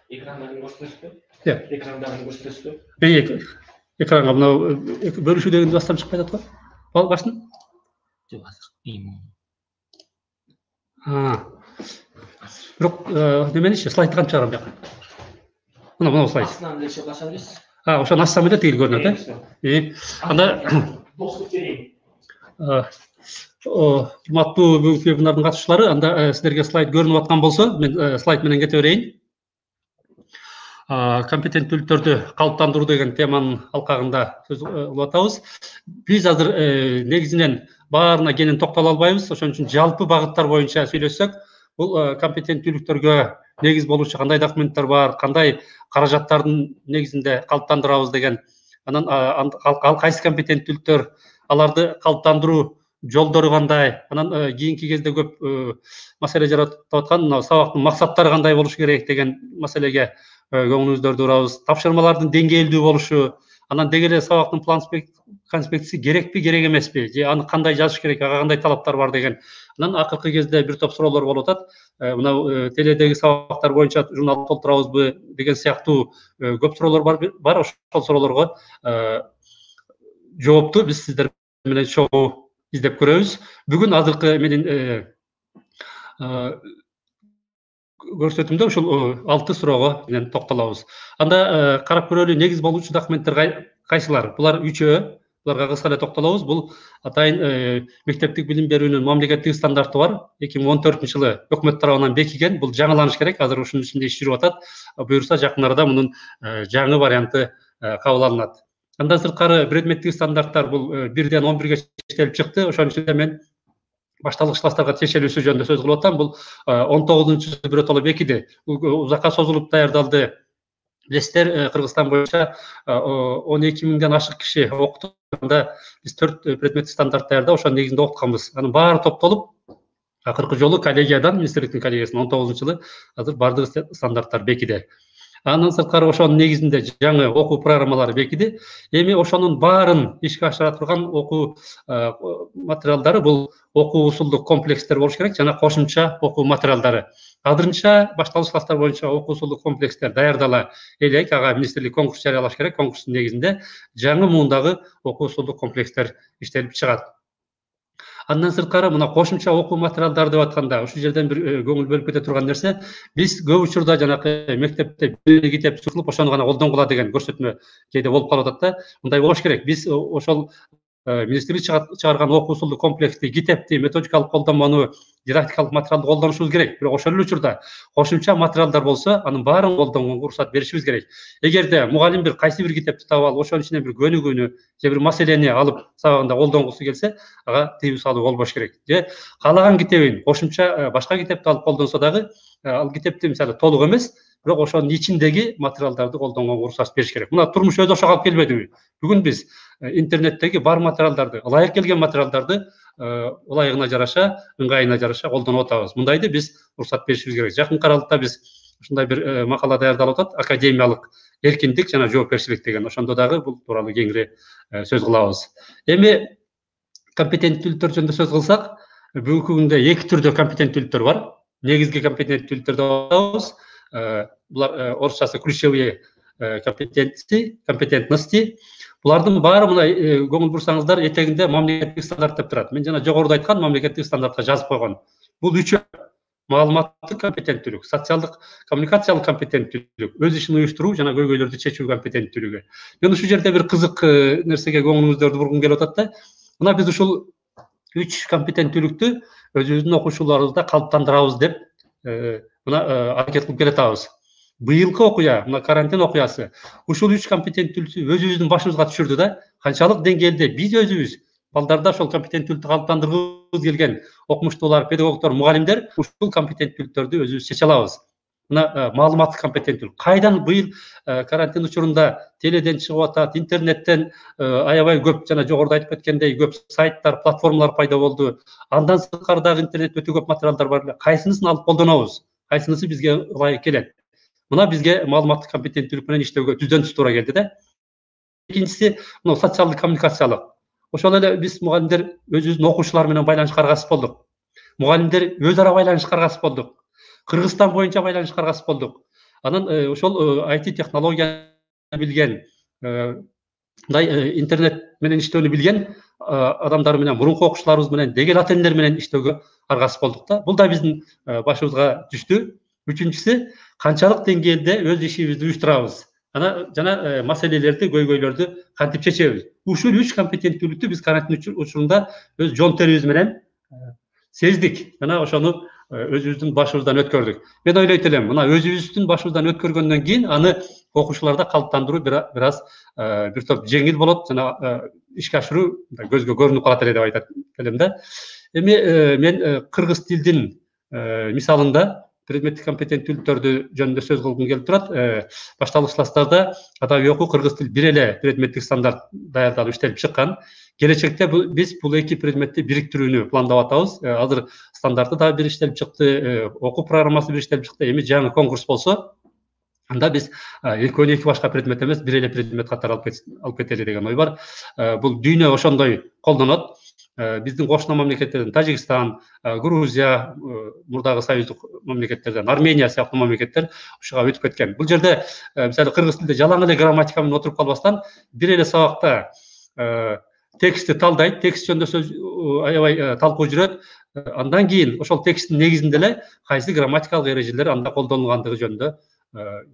Экрандарын көрсөтөсүзбү? Экрандарын көрсөтөсүзбү? Экранга мына бөлүшүү деген бастан чыкпай атат го. Башын? Жок, азыр. Бирок неменичи слайд кантип чыгарам бияка? Мына слайд. Астынан эле чыгып алсаңыз. Ошону ачсам эле тиги көрүнөт, Анда достук берейин. Урматтуу бүгүнкү вебинардын катышуучулары, анда сиздерге слайд көрүнүп аткан болсо, мен слайд менен кете берейин. Компетенттүүлүктөрдү калыптандыруу деген теманын алкагында сөз кылып атабыз. Биз азыр негизинен баарына кенен токтоло албайбыз. Ошон үчүн жалпы багыттар боюнча сүйлөшсөк, бул компетенттүүлүктөргө негиз болуучу кандай документтер бар, кандай каражаттардын негизинде калыптандырабыз деген, анан ал кайсы компетенттүүлүктөр, аларды калыптандыруу жолдору кандай, анан кийинки кезде көп маселе жаратып аткан мына сабактын максаттары кандай болуш керек деген маселеге көңүлүңүздөрдү бурабыз. Тапшырмалардын деңгээлдүү болушу, анан деги эле сабактын план конспектиси керекпи, керек эмеспи, же аны кандай жазыш керек, ага кандай талаптар бар деген. Анан акыркы кезде бир топ суроолор болуп атат. Мына теледеги сабактар боюнча журнал толтурабызбы деген сыяктуу көп суроолор бар. Ошол суроолорго жоопту биз сиздер менен чогуу издеп көрөбүз. Бүгүн азыркы менин көрсөтүмдө ушул 6 суроого менен токтолобуз. Анда карап көрөлү, негиз болуучу документтер кайсылар? Булар 3-өө. Буларга кыска эле токтолобуз. Бул атайын мектептик билим берүүнүн мамлекеттик стандарты бар. 2014-жылы өкмөт тарабынан бекиген. Бул жаңыланыш керек. Азыр ушунун ичинде иш жүрүп атат. Буюрса жакын арада мунун жаңы варианты кабыл алынат. Андан сырткары предметтик стандарттар бул 1-ден 11-ге чечилип чыкты. Ошонун ичинде мен башталгыч класстарга чечилүүсү жөнүндө сөз кылып атам. Бул 19-жылы биротоло бекиди. Бул узакка созулуп даярдалды. Билесиздер, Кыргызстан боюнча 12 миңден ашык киши окутганда биз 4 предметтик стандарт даярдап, ошонун негизинде окутканбыз. Анын баары топтолуп, акыркы жолу коллегиядан, министрликтин коллегиясынан 19-жылы азыр бардык стандарттар бекиди. Андан сырткары ошонун негизинде жаңы окуу программалары бекиди. Эми ошонун баарын ишке ашыра турган окуу материалдары бул окуу усулдук комплекстер болуш керек жана кошумча окуу материалдары. Азырынча башталгыч класстар боюнча окуу усулдук комплекстер даярдала элек, ага министрлик конкурс жарыялаш керек. Конкурстун негизинде жаңы муундагы окуу усулдук комплекстер иштелип чыгат. Андан сырткары мына кошумча окуу материалдары деп атканда, ушул жерден бир көңүл бөлүп кете турган нерсе, биз көп учурда жанакы мектепте бир китеп чукулуп ошону гана колдонгула деген көрсөтмө кээде болуп калып атат да. Мындай болуш керек. Биз ошол министрлик чыгарган окуу усулдук комплексти, китепти, методикалык колдонмону, дидактикалык материалды колдонушубуз керек. Бирок ошол эле учурда кошумча материалдар болсо, анын баарын колдонгонго уруксат беришибиз керек. Эгерде мугалим бир кайсы бир китепти таап алып, ошонун ичинен бир көнүгүүнү же бир маселени алып сабагында колдонгусу келсе, ага тыюу салуу болбош керек. Же каалаган китебин кошумча башка китепти алып колдонсо дагы, ал китепти мисалы толук эмес, бирок ошонун ичиндеги материалдарды колдонгонго уруксат бериш керек. Мына турмуш өз ошого алып келбедиби? Бүгүн биз интернеттеги бар материалдарды, ылайык келген материалдарды ылайыгына жараша, ыңгайына жараша колдонуп атабыз. Мындайды биз уруксат беришибиз керек. Жакын аралыкта биз ушундай бир макала даярдалып атат, академиялык эркиндик жана жоопкерчилик деген. Ошондо дагы бул тууралуу кеңири сөз кылабыз. Эми компетенттүүлүктөр жөнүндө сөз кылсак, бүгүнкү күндө 2 түрдө компетенттүүлүктөр бар. Негизги компетенттүүлүктөр деп атабыз. Булар орусчасы ключевые компетентности. Булардын баары мына көңүл бурсаңыздар, этегинде мамлекеттик стандарт деп турат. Мен жана жогоруда айткан мамлекеттик стандартка жазып койгон. Бул 3 маалыматтык компетенттүүлүк, социалдык, коммуникациялык компетенттүүлүк, өз ишин уюштуруу жана көйгөйлөрдү чечүү компетенттүүлүгү. Мен ушул жерде бир кызык нерсеге көңүлүңүздөрдү бургум келип атат да. Мына биз ушул 3 компетенттүүлүктү өзүбүздүн окуучуларыбызда калыптандырабыз деп мына аракет кылып келатабыз. Быйылкы окуя, мына карантин окуясы, ушул 3 компетенттүүлүктү өзүбүздүн башыбызга түшүрдү да. Канчалык деңгээлде биз өзүбүз балдарда ошол компетенттүүлүктү калыптандыргыбыз келген окумуштуулар, педагогдор, мугалимдер ушул компетенттүүлүктөрдү өзүбүз чече алабыз. Мына маалыматтык компетенттүүлүк. Кайдан быйыл карантин учурунда теледен чыгып атат, интернеттен аябай көп жана жогоруда айтып кеткендей көп сайттар, платформалар пайда болду. Андан сырткары дагы интернетте өтө көп материалдар бар. Кайсынысын алып колдонобуз? Кайсынысы бизге ылайык келет? Мына бизге маалыматтык компетенттүүлүк менен иштөөгө түздөн түз туура келди да. Экинчиси мына социалдык коммуникациялык. Ошол эле биз мугалимдер өзүбүздүн окуучулар менен байланышка аргасыз болдук. Мугалимдер өз ара байланышка аргасыз болдук. Кыргызстан боюнча байланышка аргасыз болдук. Анан ошол IT технология билген, мындай интернет менен иштөөнү билген адамдар менен, мурунку окуучуларыбыз менен, дегел ата-энелер менен иштөөгө аргасыз болдук да. Бул да биздин башыбызга түштү. Үчүнчүсү, канчалык деңгээлде өз ишибизди уюштурабыз. Жана маселелерди, көйгөйлөрдү кантип чечебиз. Ушул 3 компетенттүүлүктү биз карантин учурунда өз жон терибиз менен сездик. Жана ошону өзүбүздүн башыбыздан өткөрдүк. Мен ойлойт элем, мына өзүбүздүн башыбыздан өткөргөндөн кийин аны окуучуларда калыптандыруу бир аз бир топ жеңил болот жана ишке ашыруу көзгө көрүнүп калат эле деп айтат элем да. Эми мен кыргыз тилдин мисалында предметтик компетенттүүлүктөрдү жөнүндө сөз кылгым келип турат. Башталгыч класстарда адабий окуу, кыргыз тил бир эле предметтик стандарт даярдалып иштелип чыккан. Келечекте биз бул 2 предметти бириктирүүнү пландап атабыз. Азыр стандарты да бир иштелип чыкты, окуу программасы бир иштелип чыкты. Эми жаңы конкурс болсо, анда биз экөөнү 2 башка предмет эмес, бир эле предмет катары алып кетели деген ой бар. Бул дүйнө ошондой колдонот. Биздин кошуна мамлекеттерден Тажикстан, Грузия, мурдагы союздук мамлекеттерден Армения сыяктуу мамлекеттер ушуга өтүп кеткен. Бул жерде мисалы кыргыз тилде жалаң эле грамматика менен отуруп калбастан, бир эле сабакта текстти талдайт, текст жөнүндө сөз аябай талкуу жүрөт. Андан кийин ошол тексттин негизинде эле кайсы грамматикалык эрежелер анда колдонулгандыгы жөнүндө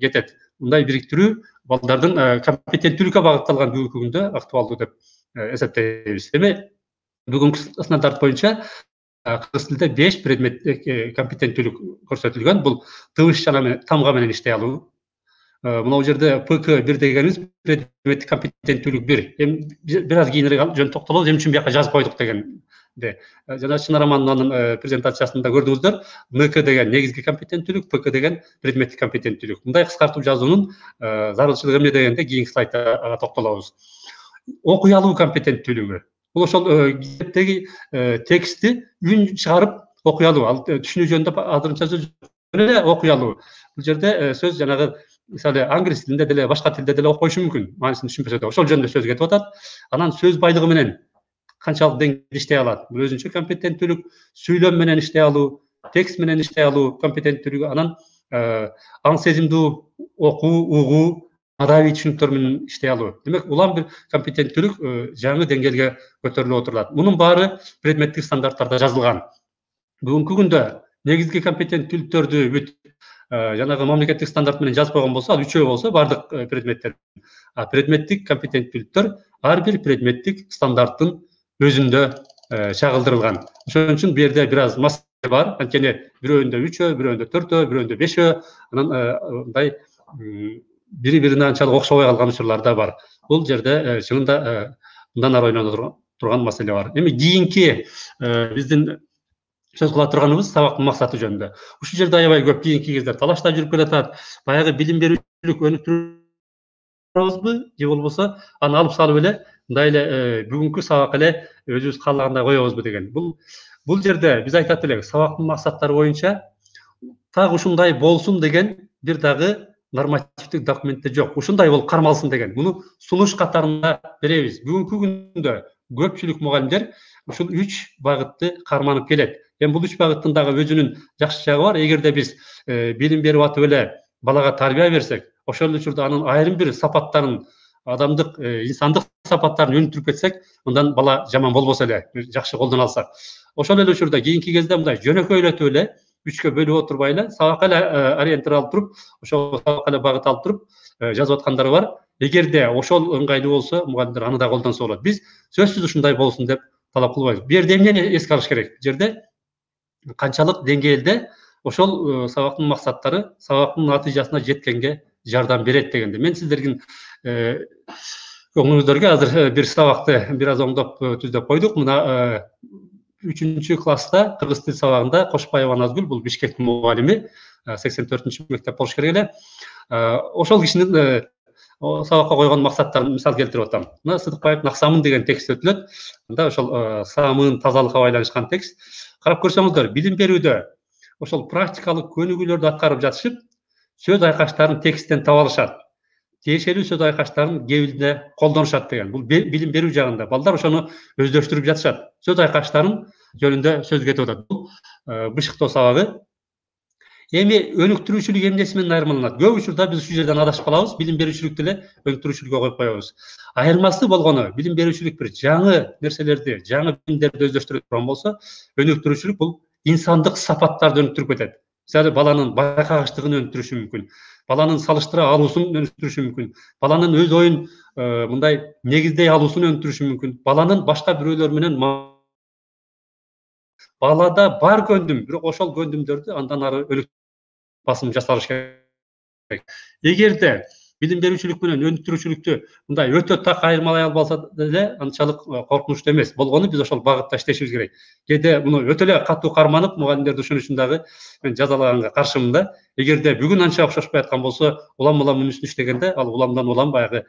кетет. Мындай бириктирүү балдардын компетенттүүлүккө багытталган бүгүнкү күндө актуалдуу деп эсептейбиз. Эми бүгүнкү стандарт боюнча кыргыз тилинде 5 предметтик компетенттүүлүк көрсөтүлгөн. Бул тыбыш жана тамга менен иштей алуу. Мына жерде ПК1 дегенибиз предметтик компетенттүүлүк 1. Эми бир аз кийинирээк жөн токтолобуз, эмне үчүн бияка жазып койдук дегенде. Жана Чынар Амановнанын презентациясында көрдүңүздөр, МК деген негизги компетенттүүлүк, ПК деген предметтик компетенттүүлүк. Мындай кыскартып жазуунун зарылчылыгы эмне дегенде кийинки слайдта токтолобуз. Окуй алуу компетенттүүлүгү. Бул ошол китептеги текстти үн чыгарып окуй алуу. Ал түшүнүү жөнүндө азырынча сөз эле окуй алуу. Бул жерде сөз жанагы мисалы англис тилинде деле башка тилде деле окуйшу мүмкүн, маанисин түшүнбөсө да. Ошол жөнүндө сөз кетип атат. Анан сөз байлыгы менен канчалык деңгээлде иштей алат. Бул өзүнчө компетенттүүлүк. Сүйлөм менен иштей алуу, текст менен иштей алуу компетенттүүлүгү. Анан аң сезимдүү окуу, угуу, адабий түшүнүктөр менен иштей алуу. Демек, улам бир компетенттүүлүк жаңы деңгээлге көтөрүлүп отурулат. Мунун баары предметтик стандарттарда жазылган. Бүгүнкү күндө негизги компетенттүүлүктөрдү бүт жанагы мамлекеттик стандарт менен жазып койгон болсо, ал 3 болсо бардык предметтер. Предметтик компетенттүүлүктөр ар бир предметтик стандарттын өзүндө чагылдырылган. Ошон үчүн бу жерде бир аз маселе бар. Анткени бирөөндө 3, бирөөндө 4, бирөөндө 5, анан мындай бири-бирине анчалык окшобой калган учурлар да бар. Бул жерде чынында мындан ары ойлоно турган маселе бар. Эми кийинки биздин сөз кыла турганыбыз сабактын максаты жөнүндө. Ушул жерде аябай көп кийинки кездер талаштар жүрүп келатат. Баягы билим берүүчүлүк өнүктүрөбүзбү же болбосо аны алып салып эле мындай эле бүгүнкү сабак эле өзүбүз каалагандай коебузбу деген. Бул жерде биз айтат элек, сабактын максаттары боюнча так ушундай болсун деген бир дагы нормативдик документте жок. Ушундай болуп кармалсын деген. Муну сунуш катарында беребиз. Бүгүнкү күндө көпчүлүк мугалимдер ушул 3 багытты карманып келет. Эми бул 3 багыттын дагы өзүнүн жакшы жагы бар. Эгерде биз билим берип атып эле балага тарбия берсек, ошол учурда анын айрым бир сапаттарын, адамдык, инсандык сапаттарын өнүктүрүп кетсек, мындан бала жаман болбосо эле, жакшы колдоно алсак. Ошол эле учурда кийинки кезде мындай жөнөкөйлөтүп эле 3кө бөлүп отурбай эле сабакка эле ориентир алып туруп, ошол сабакка эле багыт алып туруп жазып аткандар бар. Эгерде ошол ыңгайлуу болсо, мугалимдер аны да колдонсо болот. Биз сөзсүз ушундай болсун деп талап кылбайбыз. Бу жерде эмнени эске алыш керек? Бу жерде канчалык деңгээлде ошол сабактын максаттары сабактын натыйжасына жеткенге жардам берет дегенде. Мен сиздердин көңүлүңүздөргө азыр бир сабакты бир аз оңдоп түздөп койдук. Мына 3-класста кыргыз тил сабагында Кошпаева Назгүл, бул Бишкектин мугалими, 84-мектеп болуш керек эле. Ошол кишинин сабакка койгон максаттарын мисал келтирип атам. Мына Сыдыкбаев Наксамын деген текст өтүлөт. Анда ошол самын тазалыкка байланышкан текст. Карап көрсөңүздөр, билим берүүдө ошол практикалык көнүгүүлөрдү аткарып жатышып, сөз айкаштарын тексттен таап алышат. Тиешелүү сөз айкаштарын кебилде колдонушат деген. Бул билим берүү жагында балдар ошону өздөштүрүп жатышат. Сөз айкаштарын жөнүндө сөз кетип атат. Бул бышыктоо сабагы. Эми өнүктүрүүчүлүк эмнеси менен айырмаланат? Көп учурда биз ушул жерден адашып калабыз, билим берүүчүлүктү эле өнүктүрүүчүлүккө коюп коебуз. Айырмасы болгону, билим берүүчүлүк бир жаңы нерселерди, жаңы билимдерди өздөштүрө турган болсо, өнүктүрүүчүлүк бул инсандык сапаттарды өнүктүрүп кетет. Мисалы, баланын байкагычтыгын өнүктүрүшү мүмкүн, баланын салыштыра алуусун өнүктүрүшү мүмкүн, баланын өз оюн мындай негиздей алуусун өнүктүрүшү мүмкүн, баланын башка бирөөлөр менен балада бар көндүм, бирок ошол көндүмдөрдү андан ары басым жасалыш керек. Эгерде билим берүүчүлүк менен өнүктүрүүчүлүктү мындай өтө так айырмалай албаса деле анчалык коркунучтуу эмес. Болгону биз ошол багытта иштешибиз керек. Кээде муну өтө эле катуу карманып, мугалимдерди ошон үчүн дагы мен жазалаганга каршымын да. Эгерде бүгүн анча окшошпой аткан болсо, улам үнүсүн иштегенде ал уламдан улам баягы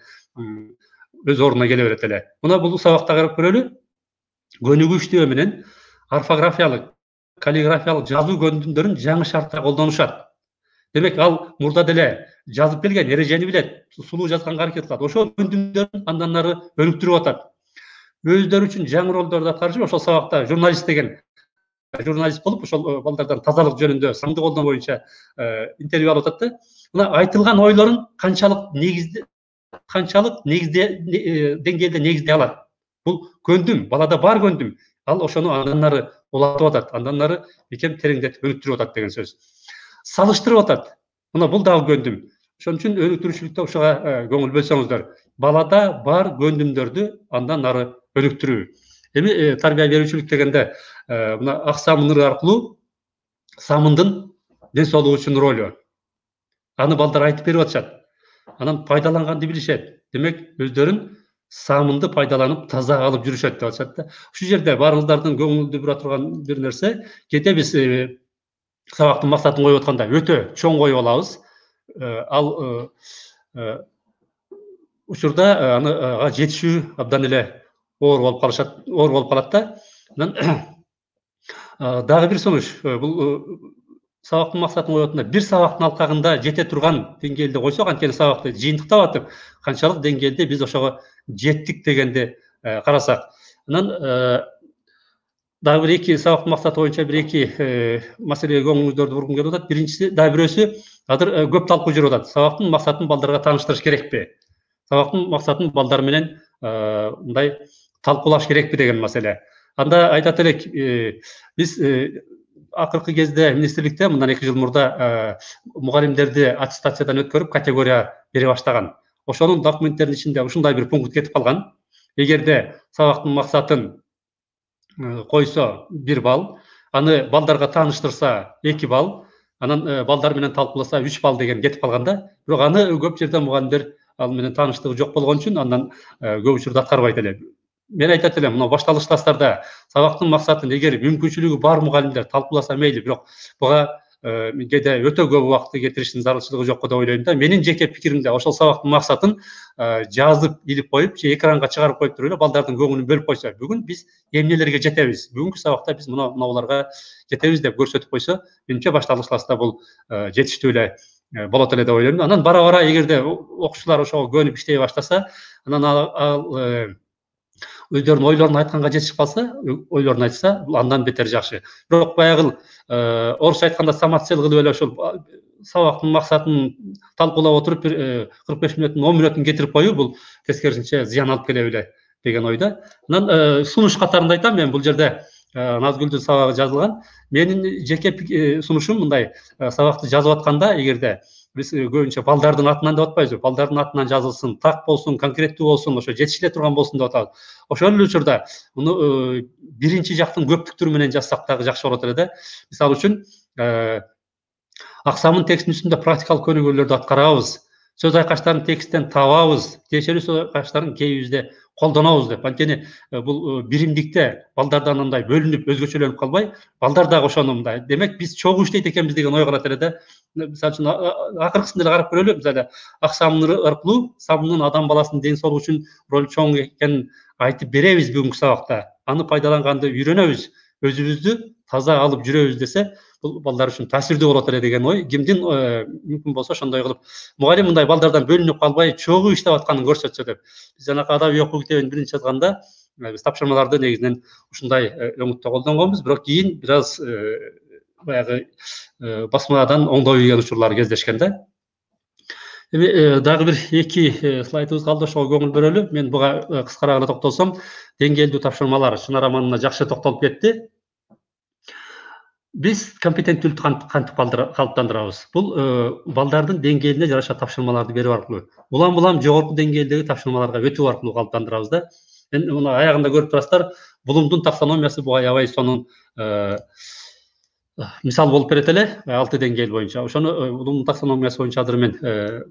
өз ордуна келе берет эле. Мына бул сабакта карап көрөлү. Көнүгүүчтөө менен орфографиялык, каллиграфиялык жазуу көндүмдөрүн жаңы шартта колдонушат. Демек, ал мурда деле жазып келген, эрежени билет, сулуу жазганга аракет кылат. Ошол көндүмдөрүн андан ары өнүктүрүп атат. Өздөрү үчүн жаңы ролдорду аткарышып, ошол сабакта журналист деген журналист болуп, ошол балдардан тазалык жөнүндө, сандык колдоо боюнча интервью алып атат да. Мына айтылган ойлорун канчалык негизде деңгээлде негиздей алат. Бул көндүм, балада бар көндүм. Ал ошону андан нары улатып атат, андан нары бекем тереңдетип өнүктүрүп атат деген сөз. Салыштырып атат. Мына бул дагы көндүм. Ошон үчүн өнүктүрүүчүлүктө ушуга көңүл бөлсөңүздөр. Балада бар көндүмдөрдү андан нары өнүктүрүү. Эми тарбия берүүчүлүк дегенде мына ак самын ыры аркылуу самындын ден соолугу үчүн ролу. Аны балдар айтып берип атышат. Анан пайдаланганды билишет. Демек өздөрүн самынды пайдаланып таза алып жүрүшөт деп атышат да. Ушул жерде баарыңыздардын көңүлдү бура турган бир нерсе, кете биз сабактын максатын коюп атканда өтө чоң коюп алабыз. Ал учурда ага жетишүү абдан эле оор болуп калат да. Анан дагы бир сунуш, бул сабактын максатын коюп атканда бир сабактын алкагында жете турган деңгээлде койсок, анткени сабакты жыйынтыктап атып, канчалык деңгээлде биз ошого жеттик дегенди карасак. Анан дагы бир эки сабактын максаты боюнча бир эки маселеге көңүлүңүздөрдү бургум келип атат. Биринчиси, дагы бирөөсү азыр көп талкуу жүрүп атат. Сабактын максатын балдарга тааныштырыш керекпи? Сабактын максатын балдар менен мындай талкуулаш керекпи деген маселе. Анда айтат элек, биз акыркы кезде министрликте мындан 2 жыл мурда мугалимдерди аттестациядан өткөрүп категория бере баштаган. Ошонун документтеринин ичинде ушундай бир пункт кетип калган. Эгерде сабактын максатын койсо 1 балл, аны балдарга тааныштырса 2 балл, анан балдар менен талкууласа 3 балл деген кетип калганда, бирок аны көп жерде мугалимдер ал менен тааныштыгы жок болгон үчүн андан көп учурда аткарбайт эле. Мен айтат элем, мына башталыш класстарда сабактын максатын эгер мүмкүнчүлүгү бар мугалимдер талкууласа мейли, бирок буга кээде өтө көп убакытты кетириштин зарылчылыгы жокко деп ойлойм да. Менин жеке пикиримде ошол сабактын максатын жазып илип коюп, же экранга чыгарып коюп туруп эле балдардын көңүлүн бөлүп койсо, бүгүн биз эмнелерге жетебиз, бүгүнкү сабакта биз мынабуларга жетебиз деп көрсөтүп койсо, менимче башталыш класста бул жетиштүү эле болот эле деп ойлойм. Анан бара эгерде окуучулар ошого көнүп иштей баштаса, анан ал өздөрүнүн ойлорун айтканга жетишип калса, ойлорун айтса, бул андан бетер жакшы. Бирок баягы орусча айтканда самоцель кылып эле ошол сабактын максатын талкуулап отуруп бир 45 мүнөттүн 10 мүнөтүн кетирип коюу, бул тескерисинче зыян алып келе беле деген ойда. Анан сунуш катарында айтам, мен бул жерде Назгүлдүн сабагы жазылган. Менин жеке сунушум мындай: сабакты жазып атканда эгерде биз көбүнчө балдардын атынан деп атпайбызбы, балдардын атынан жазылсын, так болсун, конкреттүү болсун, ошо жетишиле турган болсун деп атабыз. Ошол эле учурда муну биринчи жактын көптүктүрү менен жазсак дагы жакшы болот эле да. Мисалы үчүн ак самын текстинин үстүндө практикалык көнүгүүлөрдү аткарабыз, сөз айкаштарын тексттен табабыз, тиешелүү сөз айкаштарын кейибизде колдонобуз деп. Анткени бул биримдикте балдардан андай бөлүнүп, өзгөчөлөнүп калбай, балдар дагы ошону мындай. Демек биз чогуу иштейт экенбиз деген ой калат эле да. Мисалы үчүн акыркысын деле карап көрөлү. Мисалы ак самын аркылуу самындын адам баласынын ден соолугу үчүн ролу чоң экенин айтып беребиз бүгүнкү сабакта. Аны пайдаланганды үйрөнөбүз, өзүбүздү таза алып жүрөбүз десе, бул балдар үчүн таасирдүү болот эле деген ой. Кимдин мүмкүн болсо ошондой кылып, мугалим мындай балдардан бөлүнүп калбай, чогуу иштеп атканын көрсөтсө деп. Биз жанакы адабий окуу китебин биринчи жазганда биз тапшырмаларды негизинен ушундай өңүттө колдонгонбуз, бирок кийин бир аз баягы басмадан оңдой ийген учурлар кездешкен да. Эми дагы бир эки слайдыбыз калды, ошого көңүл бөлөлү. Мен буга кыскараак эле токтолсом, деңгээлдүү тапшырмалар Шынар Амановна жакшы токтолуп кетти. Биз компетенттүүлүктү кантип калыптандырабыз? Бул балдардын деңгээлине жараша тапшырмаларды берүү аркылуу, улам жогорку деңгээлдеги тапшырмаларга өтүү аркылуу калыптандырабыз да. Мен муну аягында көрүп турасыздар, Блумдун таксономиясы буга аябай сонун мисал болуп берет эле, 6 деңгээл боюнча. Ошону Блумдун таксономиясы боюнча азыр мен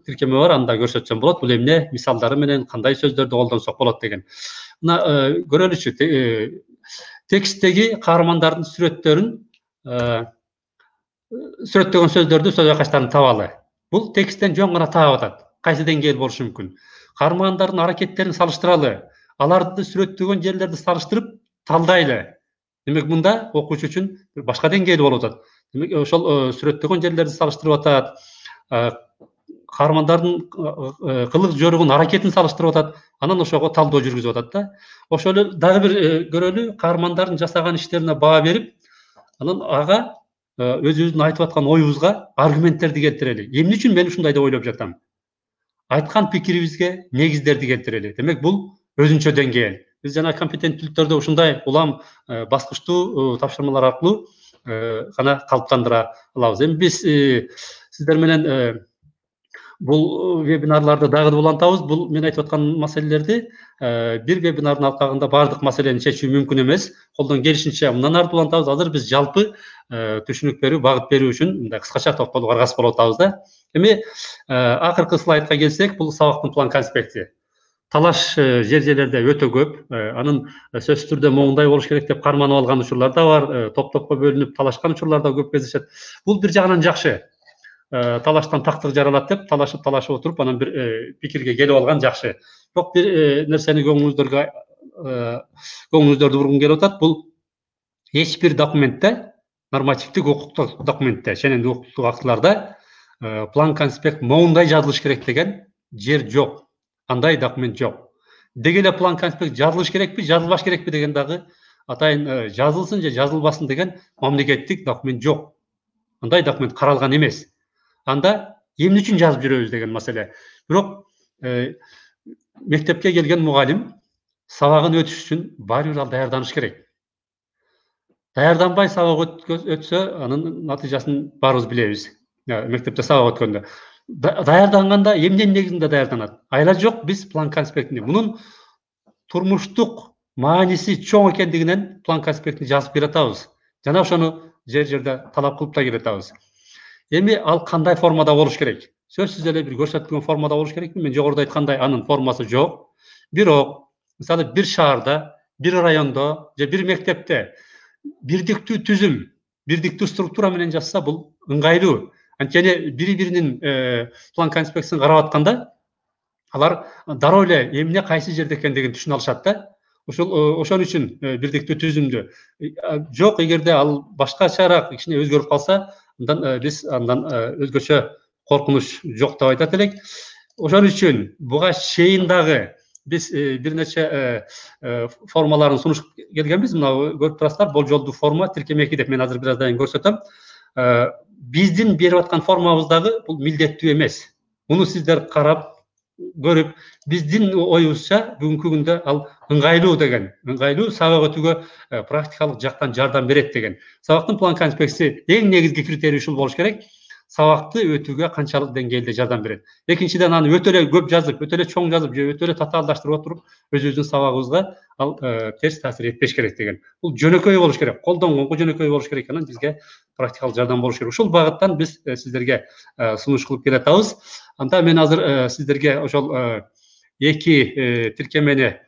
тиркеме бар, анда көрсөтсөм болот. Бул эмне мисалдары менен кандай сөздөрдү колдонсок болот деген. Мына көрөлүчү, тексттеги каармандардын сүрөттөгөн сөздөрдү, сөз айкаштарын табалы. Бул тексттен жөн гана таап атат. Кайсы деңгээл болушу мүмкүн? Каармандардын аракеттерин салыштыралы. Аларды сүрөттөгөн жерлерди салыштырып талдайлы. Демек мында окуучу үчүн башка деңгээл болуп атат. Демек ошол сүрөттөгөн жерлерди салыштырып атат. Каармандардын кылык жоругун, аракетин салыштырып атат. Анан ошого талдоо жүргүзүп атат да. Ошол эле дагы бир көрөлү, каармандардын жасаган иштерине баа берип, анан ага өзүбүздүн айтып аткан оюбузга аргументтерди келтирели. Эмне үчүн мен ушундай деп ойлоп жатам? Айткан пикирибизге негиздерди келтирели. Демек бул өзүнчө деңгээл. биз жана компетенттүүлүктөрдү ушундай улам баскычтуу тапшырмалар аркылуу гана калыптандыра алабыз. Эми биз сиздер менен бул вебинарларды дагы да улантабыз. Бул мен айтып аткан маселелерди бир вебинардын алкагында баардык маселени чечүү мүмкүн эмес. Колдон келишинче мындан ары улантабыз. Азыр биз жалпы түшүнүк берүү, багыт берүү үчүн мындай кыскача токтолууга аргасыз болуп атабыз да. Эми акыркы слайдка келсек, бул сабактын план конспекти. Талаш жер-жерлерде өтө көп. Анын сөзсүз түрдө моундай болуш керек деп карманып алган учурлар да бар. Топ-топко бөлүнүп талашкан учурлар да көп кездешет. Бул бир жагынан жакшы. Талаштан тактык жаралат деп талашып отуруп анан бир пикирге келип алган жакшы. Бирок бир нерсени көңүлүңүздөрдү бургум келип атат. Бул эч бир документте, нормативдик укуктук документте, шенендик укуктук актыларда план конспект моундай жазылыш керек деген жер жок. Андай документ жок. Деги эле план конспект жазылыш керекпи, жазылбаш керекпи деген дагы атайын жазылсын же жазылбасын деген мамлекеттик документ жок. Андай документ каралган эмес. Анда эмне үчүн жазып жүрөбүз деген маселе. Бирок мектепке келген мугалим сабагын өтүш үчүн баары бир ал даярданыш керек. Даярданбай сабак өтсө, анын натыйжасын баарыбыз билебиз. Мектепте сабак өткөндө. Даярданганда эмненин негизинде даярданат? Айла жок, биз план конспектини мунун турмуштук мааниси чоң экендигинен план конспектини жазып келатабыз. Жана ошону жер-жерде талап кылып да келатабыз. Эми ал кандай формада болуш керек? Сөзсүз эле бир көрсөтүлгөн формада болуш керекпи? Мен жогоруда айткандай анын формасы жок. Бирок, мисалы бир шаарда, бир райондо же бир мектепте бирдиктүү түзүм, бирдиктүү структура менен жазса бул ыңгайлуу. Анткени бири-биринин план конспектисин карап атканда алар дароо эле эмне кайсы жерде экендигин түшүнө алышат да. Ошон үчүн бирдиктүү түзүмдү жок, эгерде ал башкачараак кичине өзгөрүп калса, андан биз өзгөчө коркунуч жок деп айтат элек. Ошон үчүн буга чейин дагы биз бир нече формаларын сунуштуп келгенбиз. Мына көрүп турасыздар, болжолдуу форма тиркеме 2 деп мен азыр бир аздан кийин көрсөтөм. Биздин берип аткан формабыз дагы бул милдеттүү эмес. Муну сиздер карап көрүп, биздин оюбузча бүгүнкү күндө ал ыңгайлуу деген, ыңгайлуу сабак өтүүгө практикалык жактан жардам берет деген. Сабактын план конспектиси эң негизги критерий ушул болуш керек. Сабакты өтүүгө канчалык деңгээлде жардам берет. Экинчиден, аны өтө эле көп жазып, өтө эле чоң жазып, же өтө эле татаалдаштырып отуруп, өзүбүздүн сабагыбызга ал терс таасир этпеш керек деген. Бул жөнөкөй болуш керек, колдонгонго жөнөкөй болуш керек, анан бизге практикалык жардам болуш керек. Ушул багыттан биз сиздерге сунуш кылып келатабыз. Анда мен азыр сиздерге ошол 2 тиркемени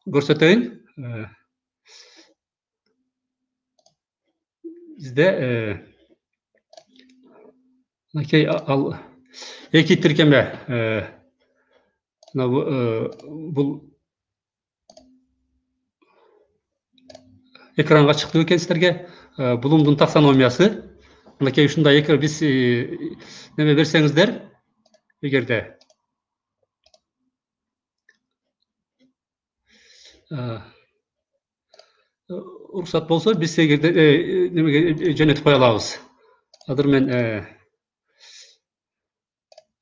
көрсөтөйүн. Бизде мынакей ал 2 тиркеме бул экранга чыкты экен сиздерге. Блумдун таксономиясы. Мынакей ушундай биз неме берсеңиздер, эгерде уруксат болсо, биз эгерде немеге жөнөтүп кое алабыз. Азыр мен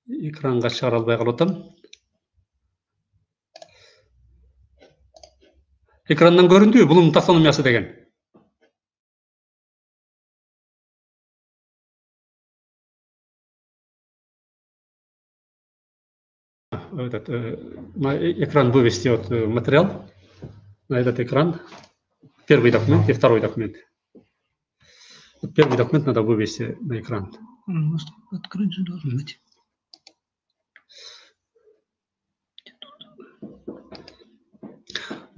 экранга чыгара албай калып атам. Экрандан көрүндүбү Блумдун таксономиясы деген? Этот экран вывести вот материал. На этот экран. Первый документ и второй документ. Первый документ надо вывести на экран. Открыть же должен быть.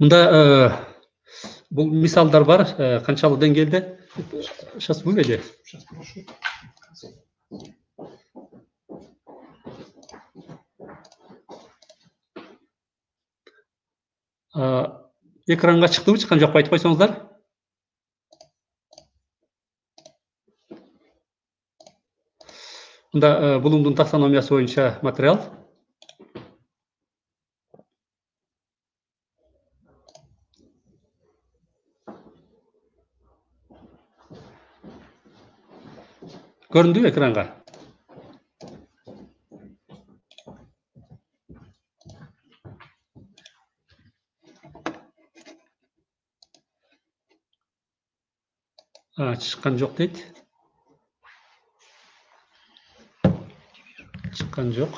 Мында бул мисалдар бар, канчалык деңгээлде. Сейчас выведи. Сейчас прошу. Экранга чыктыбы, чыккан жокпу айтып койсоңуздар. Мында Блумдун таксономиясы боюнча материал. Көрүндүбү экранга? Чыккан жок дейт. Чыккан жок.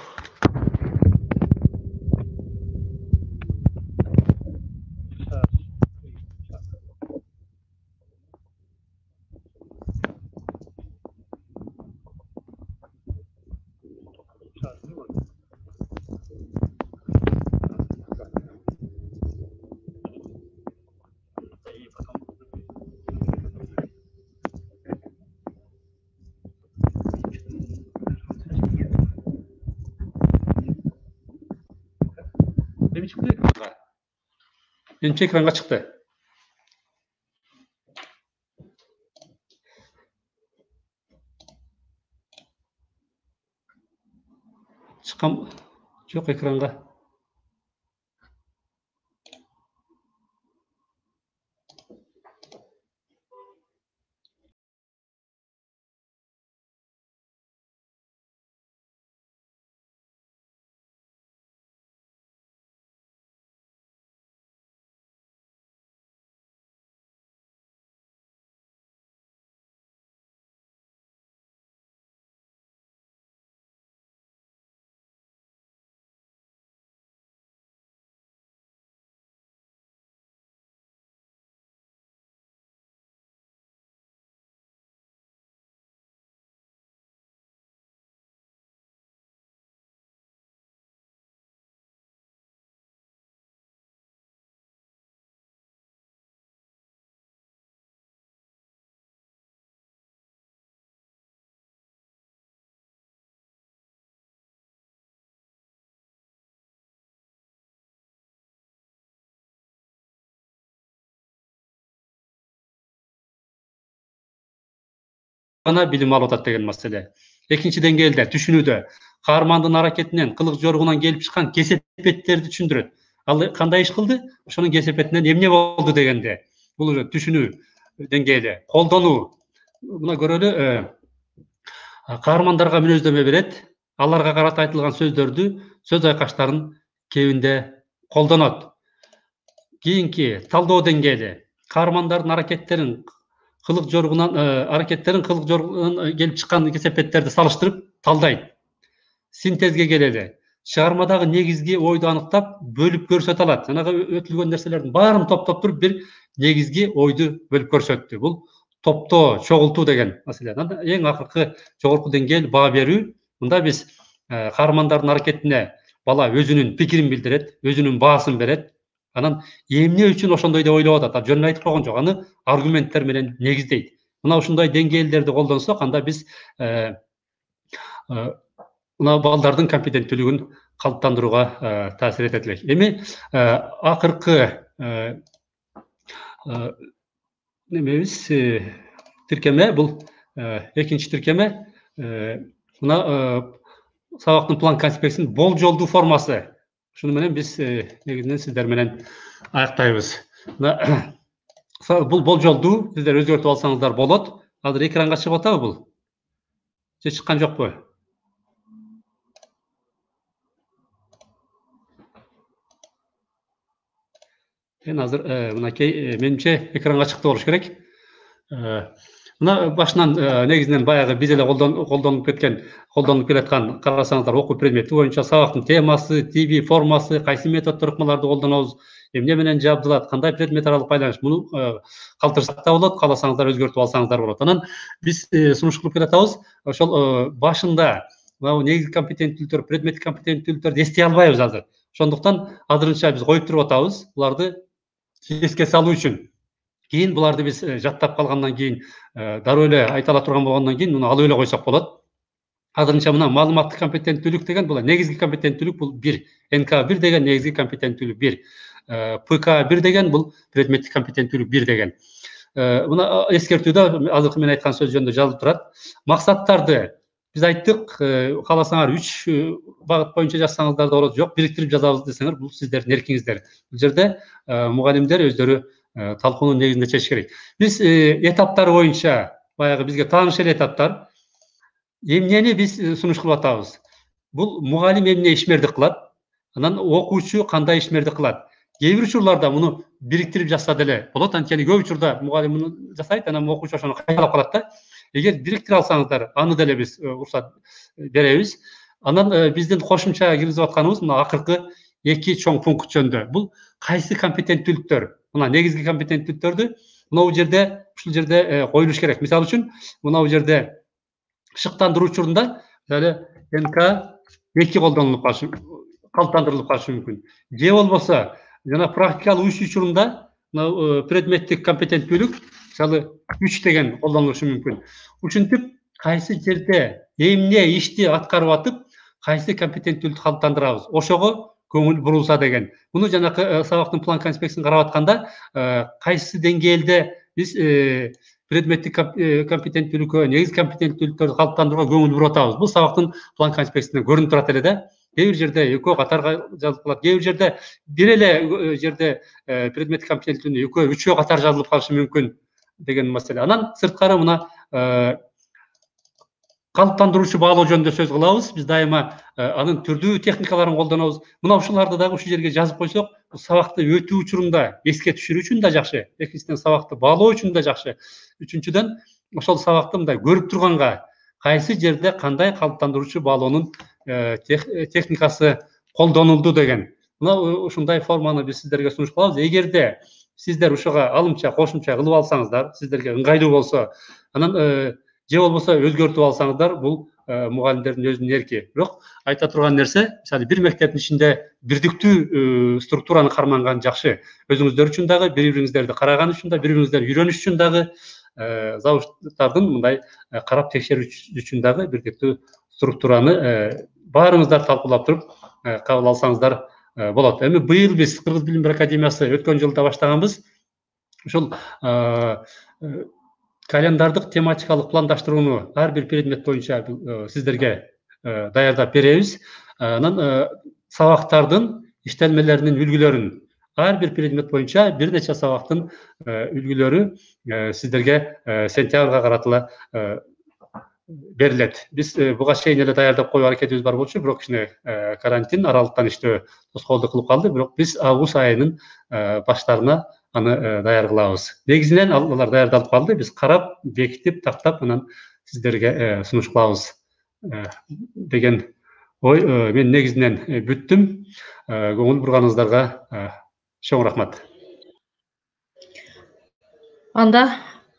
Менимче экранга чыкты. Чыккан жок экранга. Билим алып атат деген маселе. Экинчи деңгээлде түшүнүүдө каармандын аракетинен, кылык жоргунан келип чыккан кесепеттерди түшүндүрөт. Ал кандай иш кылды? Ошонун кесепетинен эмне болду дегенде. Бул түшүнүү деңгээли, колдонуу. Мына көрөлү, каармандарга мүнөздөмө берет, аларга карата айтылган сөздөрдү, сөз айкаштарын кебинде колдонот. Кийинки талдоо деңгээли, каармандардын аракеттерин кылык жоргунан келип чыккан кесепеттерди салыштырып талдайт. Синтезге келели. Чыгармадагы негизги ойду аныктап, бөлүп көрсөтө алат. Жанагы өтүлгөн нерселердин баарын топтоп туруп бир негизги ойду бөлүп көрсөттү. Бул топтоо, чогултуу деген маселе. Эң акыркы жогорку деңгээл баа берүү. Мында биз каармандардын аракетине бала өзүнүн пикирин билдирет, өзүнүн баасын берет. Анан эмне үчүн ошондой деп ойлоп атат? Жөн айтып койгон жок, аны аргументтер менен негиздейт. Мына ушундай деңгээлдерди колдонсок, анда биз мына балдардын компетенттүүлүгүн калыптандырууга таасир этет элек. Эми акыркы немебиз тиркеме, бул экинчи тиркеме. Мына сабактын план конспектисинин болжолдуу формасы. Шуну менен биз негизинен сиздер менен аяктайбыз. Бул болжолду сиздер өзгөртүп алсаңыздар болот. Азыр экранга чыгып атабы бул? Же чыккан жокпу? Мен азыр мынакей менимче экранга чыкты болуш керек. Мына башынан негизинен баягы биз эле колдонуп келаткан карасаңыздар, окуу предмети боюнча сабактын темасы, тиби, формасы, кайсы методдор ыкмаларды колдонобуз, эмне менен жабдылат, кандай предмет аралык байланыш, муну калтырсак да болот, кааласаңыздар өзгөртүп алсаңыздар болот. Анан биз сунуш кылып келатабыз, ошол башында негизги компетенттүүлүктөр, предметтик компетенттүүлүктөрдү эстей албайбыз азыр. Ошондуктан азырынча биз коюп туруп атабыз, буларды эске салуу үчүн. Кийин буларды биз жаттап калгандан кийин, дароо эле айта ала турган болгондон кийин муну алып эле койсок болот. Азырынча мына маалыматтык компетенттүүлүк деген бул негизги компетенттүүлүк, бул 1. НК1 деген негизги компетенттүүлүк 1. ПК1 деген бул предметтик компетенттүүлүк 1 деген. Мына эскертүүдө азыркы мен айткан сөз жөнүндө жазылып турат. Максаттарды биз айттык, кааласаңар 3 багыт боюнча жазсаңыздар да болот, жок бириктирип жазабыз десеңер, бул сиздердин эркиңиздер. Бул жерде мугалимдер өздөрү талкуунун негизинде чечиш керек. Биз этаптары боюнча баягы бизге тааныш эле этаптар. Эмнени биз сунуш кылып атабыз? Бул мугалим эмне ишмердик кылат? Анан окуучу кандай ишмердик кылат? кээ бир учурларда муну бириктирип жазса деле болот. Анткени көп учурда мугалим муну жасайт, анан окуучу ошону кайталап калат да. Эгер бириктире алсаңыздар, аны деле биз уруксат беребиз. Анан биздин кошумча киргизип атканыбыз мына акыркы 2 чоң пункт жөнүндө. Бул кайсы компетенттүүлүктөр? Мына негизги компетенттүүлүктөрдү ушул жерде коюлуш керек. Мисалы үчүн, мына жерде шыктандыруу учурунда НК2 колдонулуп калышы, калыптандырылып калышы мүмкүн. Же болбосо жана практикалык иш учурунда предметтик компетенттүүлүк, мисалы 3 деген колдонулушу мүмкүн. Ушинтип кайсы жерде эмне ишти аткарып атып, кайсы компетенттүүлүктү калыптандырабыз, ошого көңүл бурулса деген. Муну жанакы сабактын план конспектисин карап атканда, кайсы деңгээлде биз предметтик компетенттүүлүккө, негизги компетенттүүлүктөрдү калыптандырууга көңүл буруп атабыз. Бул сабактын план конспектисинде көрүнүп турат эле да. Кээ бир жерде экөө катар жазылып калат, кээ бир жерде бир эле жерде предметтик компетенттүүлүктү экөө, үчөө катар жазылып калышы мүмкүн деген маселе. Анан сырткары мына калыптандыруучу баалоо жөнүндө сөз кылабыз. Биз дайыма анын түрдүү техникаларын колдонобуз. Мына ушуларды дагы ушул жерге жазып койсок, сабакты өтүү учурунда эске түшүрүү үчүн да жакшы, экинчиден сабакты баалоо үчүн да жакшы. Үчүнчүдөн ошол сабакты мындай көрүп турганга кайсы жерде кандай калыптандыруучу баалоонун техникасы колдонулду деген. Мына ушундай форманы биз сиздерге сунуш кылабыз. Эгерде сиздер ушуга алымча, кошумча кылып алсаңыздар, сиздерге ыңгайлуу болсо, анан же болбосо өзгөртүп алсаңыздар, бул мугалимдердин өзүнүн эрки. Бирок айта турган нерсе, мисалы бир мектептин ичинде бирдиктүү структураны карманган жакшы. Өзүңүздөр үчүн дагы, бири-бириңиздерди караган үчүн да, бири-бириңиздерди үйрөнүш үчүн дагы, завучтардын мындай карап текшерүү үчүн дагы бирдиктүү структураны баарыңыздар талкуулап туруп кабыл алсаңыздар болот. Эми быйыл биз Кыргыз Билим Берүү Академиясы өткөн жылда баштаганбыз. Ушул календардык тематикалык пландаштырууну ар бир предмет боюнча сиздерге даярдап беребиз. Анан сабактардын иштелмелеринин үлгүлөрүн ар бир предмет боюнча бир нече сабактын үлгүлөрү сиздерге сентябрга каратыла берилет. Биз буга чейин эле даярдап коюу аракетибиз бар болчу, бирок кичине карантин аралыктан иштөө тоскоолдук кылып калды. Бирок биз август айынын баштарына аны даяр кылабыз. Негизинен алар даярдалып калды. Биз карап, бекитип, тактап, анан сиздерге сунуш кылабыз деген ой. Мен негизинен бүттүм. Көңүл бурганыңыздарга чоң рахмат. Анда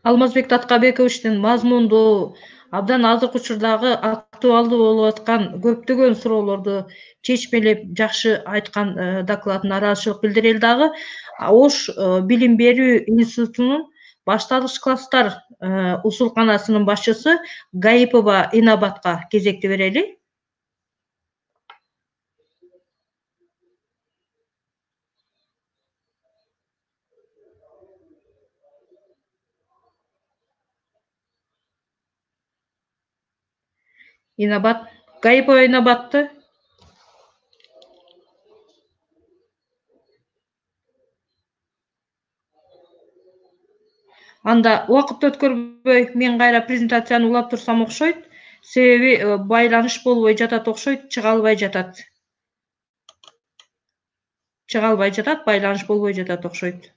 Алмазбек Таткабековичтин мазмундуу, абдан азыркы учурдагы актуалдуу болуп аткан көптөгөн суроолорду чечмелеп жакшы айткан докладына ыраазычылык билдирели дагы. Ош Билим берүү институтунун башталгыч класстар усулканасынын башчысы Гаипова Инабатка кезекти берели. Инабат, Гаипова Инабатты. Анда убакытты өткөрбөй мен кайра презентацияны улап турсам окшойт. Себеби байланыш болбой жатат окшойт, чыга албай жатат. Байланыш болбой жатат окшойт.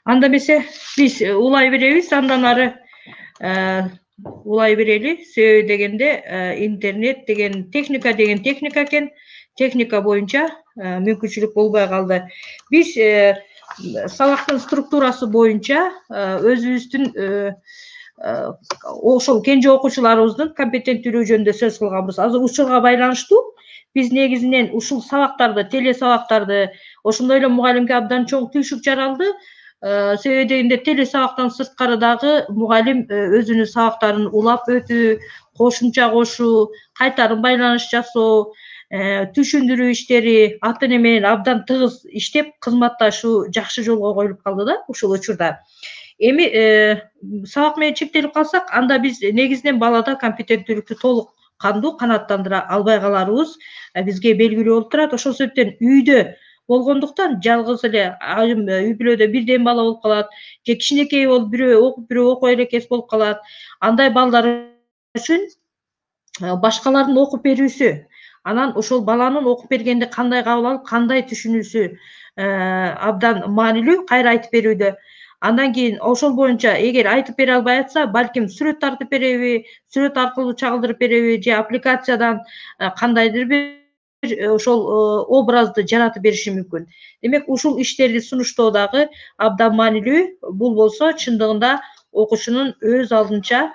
Анда эмесе биз улай беребиз, андан ары улай берели. Себеби дегенде интернет деген техника экен. Техника боюнча мүмкүнчүлүк болбой калды. Биз сабактын структурасы боюнча өзүбүздүн ошол кенже окуучуларыбыздын компетенттүүлүгү жөнүндө сөз кылганбыз. Азыр учурга байланыштуу биз негизинен ушул сабактарды, теле сабактарды, ошондой эле мугалимге абдан чоң түйшүк жаралды. Себеби дегенде теле сабактан сырткары дагы мугалим өзүнүн сабактарын улап өтүү, кошумча кошуу, кайтарым байланыш жасоо, түшүндүрүү иштери, ата эне менен абдан тыгыз иштеп, кызматташуу жакшы жолго коюлуп калды да ушул учурда. Эми сабак менен чектелип калсак, анда биз негизинен балада компетенттүүлүктү толук кандуу канааттандыра албай каларыбыз бизге белгилүү болуп турат. Ошол себептен үйдө болгондуктан жалгыз эле айрым үй бүлөдө бирден бала болуп калат, же кичинекей болуп бирөө окуп элекес болуп калат. Андай балдар үчүн башкалардын окуп берүүсү, анан ошол баланын окуп бергенди кандай кабыл алып, кандай түшүнүүсү абдан маанилүү кайра айтып берүүдө. Андан кийин ошол боюнча эгер айтып бере албай атса, балким сүрөт тартып береби, сүрөт аркылуу чагылдырып береби, же аппликациядан кандайдыр бир ошол образды жаратып бериши мүмкүн. Демек, ушул иштерди сунуштоо дагы абдан маанилүү. Бул болсо чындыгында окуучунун өз алдынча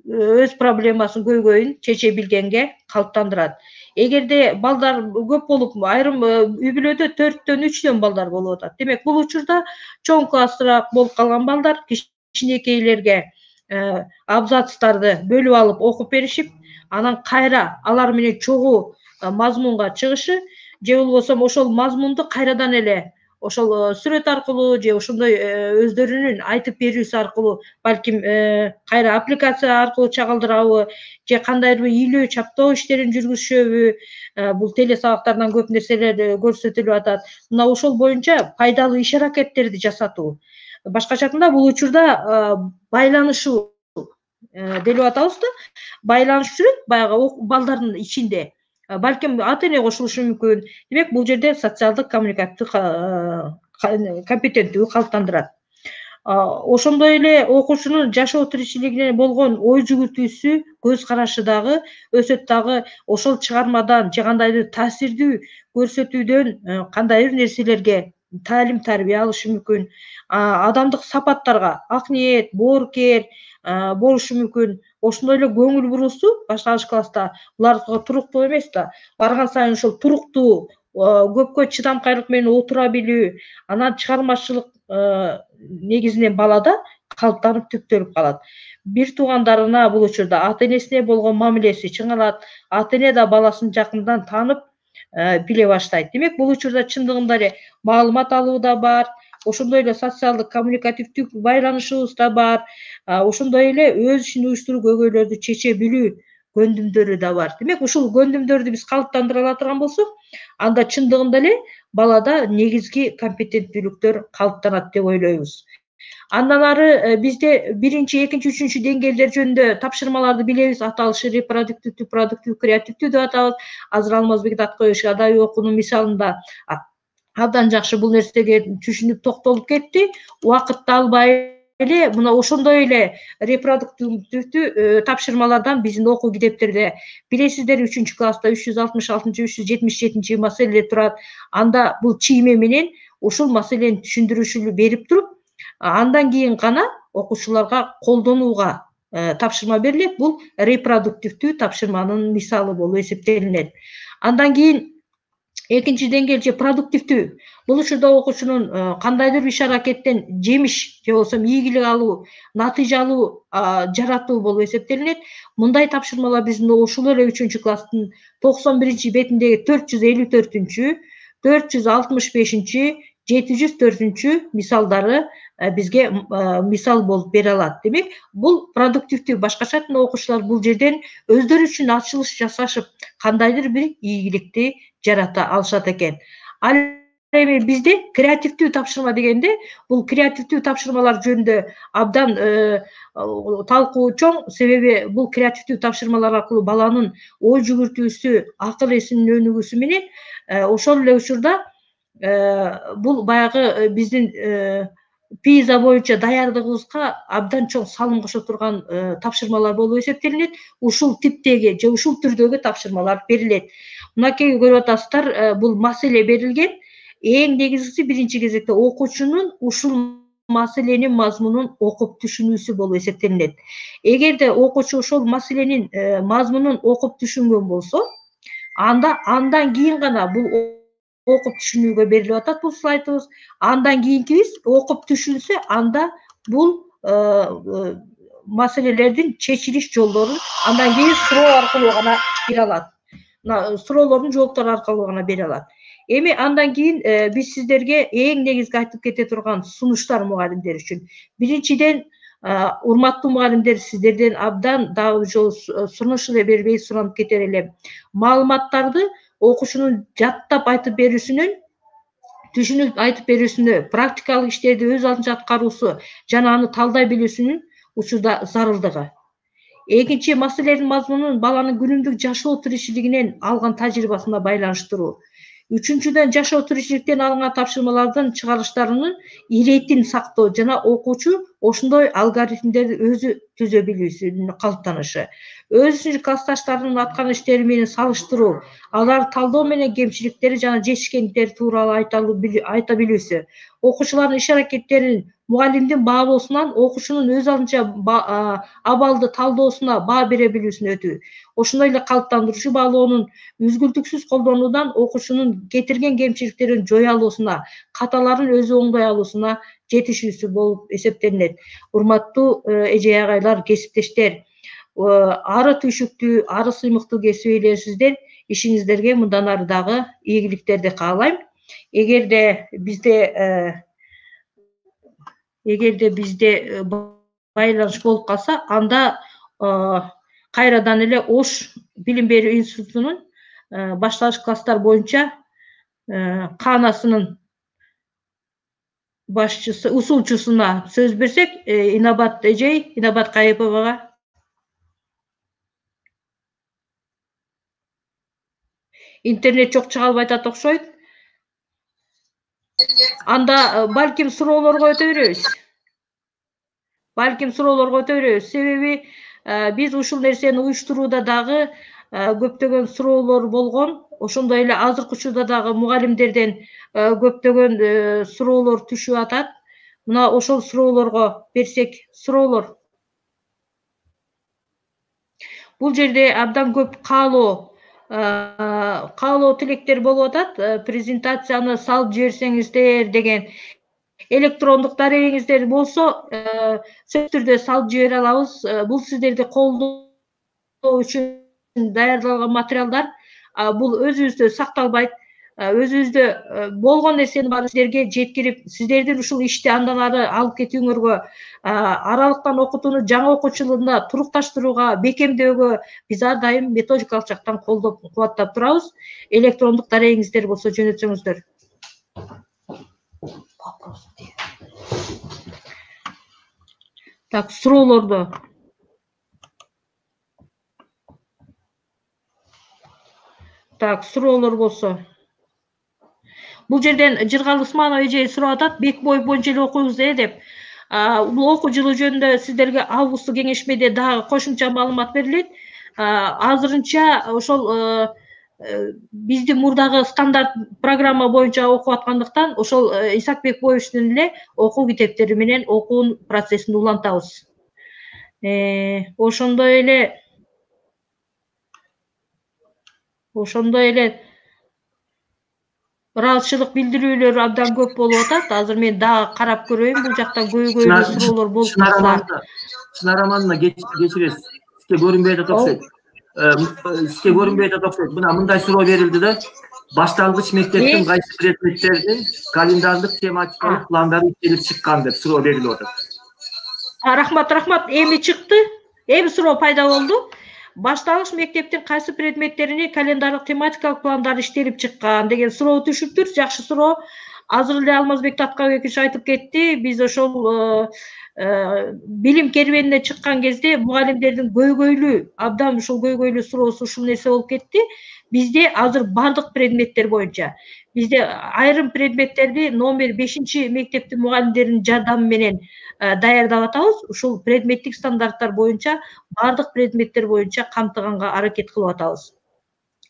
өз проблемасын, көйгөйүн чече билгенге калыптандырат. Эгерде балдар көп болуп, айрым үй бүлөдө 4-төн 3төн балдар болуп атат. Демек, бул учурда чоң класстыраак болуп калган балдар кичинекейлерге абзацтарды бөлүп алып окуп беришип, анан кайра алар менен чогуу мазмунга чыгышы, же болбосо ошол мазмунду кайрадан эле ошол сүрөт аркылуу же ошондой өздөрүнүн айтып берүүсү аркылуу, балким кайра аппликация аркылуу чагылдырабы, же кандайдыр бир илөө чаптоо иштерин жүргүзүшөбү, бул теле сабактардан көп нерселер көрсөтүлүп атат. Мына ошол боюнча пайдалуу иш аракеттерди жасатуу. Башкача айтканда, бул учурда байланышуу делип атабыз да, байланыш жүрөт баягы балдардын ичинде. Балким ата эне кошулушу мүмкүн. Демек, бул жерде социалдык коммуникативдүү компетенттүүлүк калыптандырат. Ошондой эле окуучунун жашоо тиричилигине болгон ой жүгүртүүсү, көз карашы дагы өсөт дагы, ошол чыгармадан же кандайдыр таасирдүү көрсөтүүдөн кандайдыр нерселерге таалим тарбия алышы мүмкүн. Адамдык сапаттарга ак ниет, боорукер болушу мүмкүн. Ошондой эле көңүл буруусу башталгыч класста буларга туруктуу эмес да, барган сайын ошол туруктуу, көпкө чыдамкайлык менен отура билүү, анан чыгармачылык негизинен балада калыптанып түптөлүп калат. Бир туугандарына бул учурда ата энесине болгон мамилеси чыңалат, ата эне да баласын жакындан таанып биле баштайт. Демек, бул учурда чындыгында эле маалымат алуу да бар, ошондой эле социалдык коммуникативдүү байланышыбыз да бар, ошондой эле өз ишин уюштуруу, көйгөйлөрдү чече билүү көндүмдөрү да бар. Демек, ушул көндүмдөрдү биз калыптандыра ала турган болсок, анда чындыгында эле балада негизги компетенттүүлүктөр калыптанат деп ойлойбуз. Андан ары бизде 1-чи, 2-чи, 3-чү деңгээлдер жөнүндө тапшырмаларды билебиз. Аталышы репродуктивдүү, продуктивдүү, креативдүү деп атабыз. Азыр Алмазбек Аткоевич адабий окуунун мисалында абдан жакшы бул нерсеге түшүнүп токтолуп кетти. Убакытты албай эле мына ошондой эле репродуктивдүү тапшырмалардан биздин окуу китептерде билесиздер, 3-чү класста 366, 377 маселелер турат. Анда бул чийме менен ушул маселени түшүндүрүшү берип туруп, андан кийин гана окуучуларга колдонууга тапшырма берилет. Бул репродуктивдүү тапшырманын мисалы болуп эсептелинет. Андан кийин 2-чи деңгээл же продуктивдүү. Бул учурда окуучунун кандайдыр бир иш аракеттен жемиш же болбосо ийгилик алуу, натыйжа алуу жаратуу болуп эсептелинет. Мындай тапшырмалар биздин ушул эле 3-чү класстын 91-чи бетиндеги 454-чү, 465-чи, 704-чү мисалдары бизге мисал болуп бере алат. Демек, бул продуктивдүү. Башкача айтканда, окуучулар бул жерден өздөрү үчүн ачылыш жасашып, кандайдыр бир ийгиликти жарата алышат экен. Ал эми бизде креативдүү тапшырма дегенде, бул креативдүү тапшырмалар жөнүндө абдан талкуу чоң. Себеби бул креативдүү тапшырмалар аркылуу баланын ой жүгүртүүсү, акыл эсинин өнүгүүсү менен ошол эле учурда бул баягы биздин ПИЗа боюнча даярдыгыбызга абдан чоң салым кошо турган тапшырмалар болуп эсептелинет. Ушул типтеги же ушул түрдөгү тапшырмалар берилет. Мынакей көрүп атасыздар, бул маселе берилген. Эң негизгиси 1-чи кезекте окуучунун ушул маселенин мазмунун окуп түшүнүүсү болуп эсептелинет. Эгерде окуучу ошол маселенин мазмунун окуп түшүнгөн болсо, андан кийин гана бул окуп түшүнүүгө берилип атат бул слайдыбыз. Андан кийинкибиз окуп түшүнсө, анда бул маселелердин чечилиш жолдорун андан кийин суроо аркылуу гана бере алат. Мына суроолордун жооптору аркылуу гана бере алат. Эми андан кийин биз сиздерге эң негизги айтып кете турган сунуштар мугалимдер үчүн. Биринчиден, урматтуу мугалимдер, сиздерден абдан дагы жолу сунуш эле бербей суранып кетер элем. Маалыматтарды окуучунун жаттап айтып берүүсүнөн, түшүнүп айтып берүүсүнө, практикалык иштерди өз алдынча аткаруусу жана аны талдай билүүсүнүн учурда зарылдыгы. Экинчи, маселелердин мазмунун баланын күнүмдүк жашоо тиричилигинен алган тажрыйбасына байланыштыруу. Үчүнчүдөн, жашоо тиричиликтен алынган тапшырмалардын чыгарылыштарынын иретин сактоо жана окуучу ошондой алгоритмдерди өзү түзө билүүсүнүн калыптанышы. Өзүнүн классташтарынын аткан иштери менен салыштыруу, аларды талдоо менен кемчиликтери жана жетишкендиктери тууралуу айта билүүсү. Окуучулардын иш аракеттерин мугалимдин баалоосунан окуучунун өз алдынча абалды талдоосуна баа бере билүүсүнө өтүү. Ошондой эле калыптандыруучу баалоонун үзгүлтүксүз колдонуудан окуучунун кетирген кемчиликтерин жое алуусуна, каталарын өзү оңдой алуусуна жетишүүсү болуп эсептелинет. Урматтуу эже агайлар, кесиптештер, ары түйшүктүү, ары сыймыктуу кесип ээлерисиздер. Ишиңиздерге мындан ары дагы ийгиликтерди каалайм. Эгерде бизде байланыш болуп калса, анда кайрадан эле Ош билим берүү институтунун башталгыч класстар боюнча каанасынын башчысы, усулчусуна сөз берсек, Инабат эжей, Инабат Кайыповага. Интернет жок, чыга албай атат окшойт. Анда балким суроолорго өтө беребиз. Себеби биз ушул нерсени уюштурууда дагы көптөгөн суроолор болгон. Ошондой эле азыркы учурда дагы мугалимдерден көптөгөн суроолор түшүп атат. Мына ошол суроолорго берсек, суроолор. Бул жерде абдан көп каалоо тилектер болуп атат. Презентацияны салып жиберсеңиздер деген. Электрондук дарегиңиздер болсо, сөзсүз түрдө салып жибере алабыз. Бул сиздерди колдоо үчүн даярдалган материалдар. Бул өзүбүздө сакталбайт. Өзүбүздө болгон нерсени баарын сиздерге жеткирип, сиздердин ушул ишти андан ары алып кетүүңөргө, аралыктан окутууну жаңы окуучу жылында турукташтырууга, бекемдөөгө биз ар дайым методикалык жактан колдоп, кубаттап турабыз. Электрондук дарегиңиздер болсо жөнөтсөңүздөр. Так, суроолорду. Так, суроолор болсо. Бул жерден Жыргал Усманов эже сурап атат, Бекбоев боюнча эле окуйбуз деп. Бул окуу жылы жөнүндө сиздерге августтук кеңешмеде дагы кошумча маалымат берилет. Азырынча ошол биздин мурдагы стандарт программа боюнча окуп аткандыктан, ошол Исак Бекбоевичтин эле окуу китептери менен окуунун процессин улантабыз. Ошондой эле ыраазычылык билдирүүлөр абдан көп болуп атат. Азыр мен дагы карап көрөйүн, бул жактан көйгөйлүү суроолор болуп калса. Чынар Амановна, кечиресиз. Сизге көрүнбөй атат окшойт. Мына мындай суроо берилди да. Башталгыч мектептин кайсы предметтердин календардык тематикалык пландары иштелип чыккан деп суроо берилип атат. Рахмат. Эми чыкты. Эми суроо пайда болду. Башталгыч мектептин кайсы предметтерине календарлык тематикалык пландар иштелип чыккан деген суроо түшүптүр. Жакшы суроо. Азыр эле Алмазбек Таткабекович айтып кетти. Биз ошол билим кербенине чыккан кезде мугалимдердин абдан ушул көйгөйлүү суроосу ушул нерсе болуп кетти. Бизде азыр бардык предметтер боюнча, бизде айрым предметтерди номер 5 мектептин мугалимдеринин жардамы менен даярдап атабыз. Ушул предметтик стандарттар боюнча бардык предметтер боюнча камтыганга аракет кылып атабыз.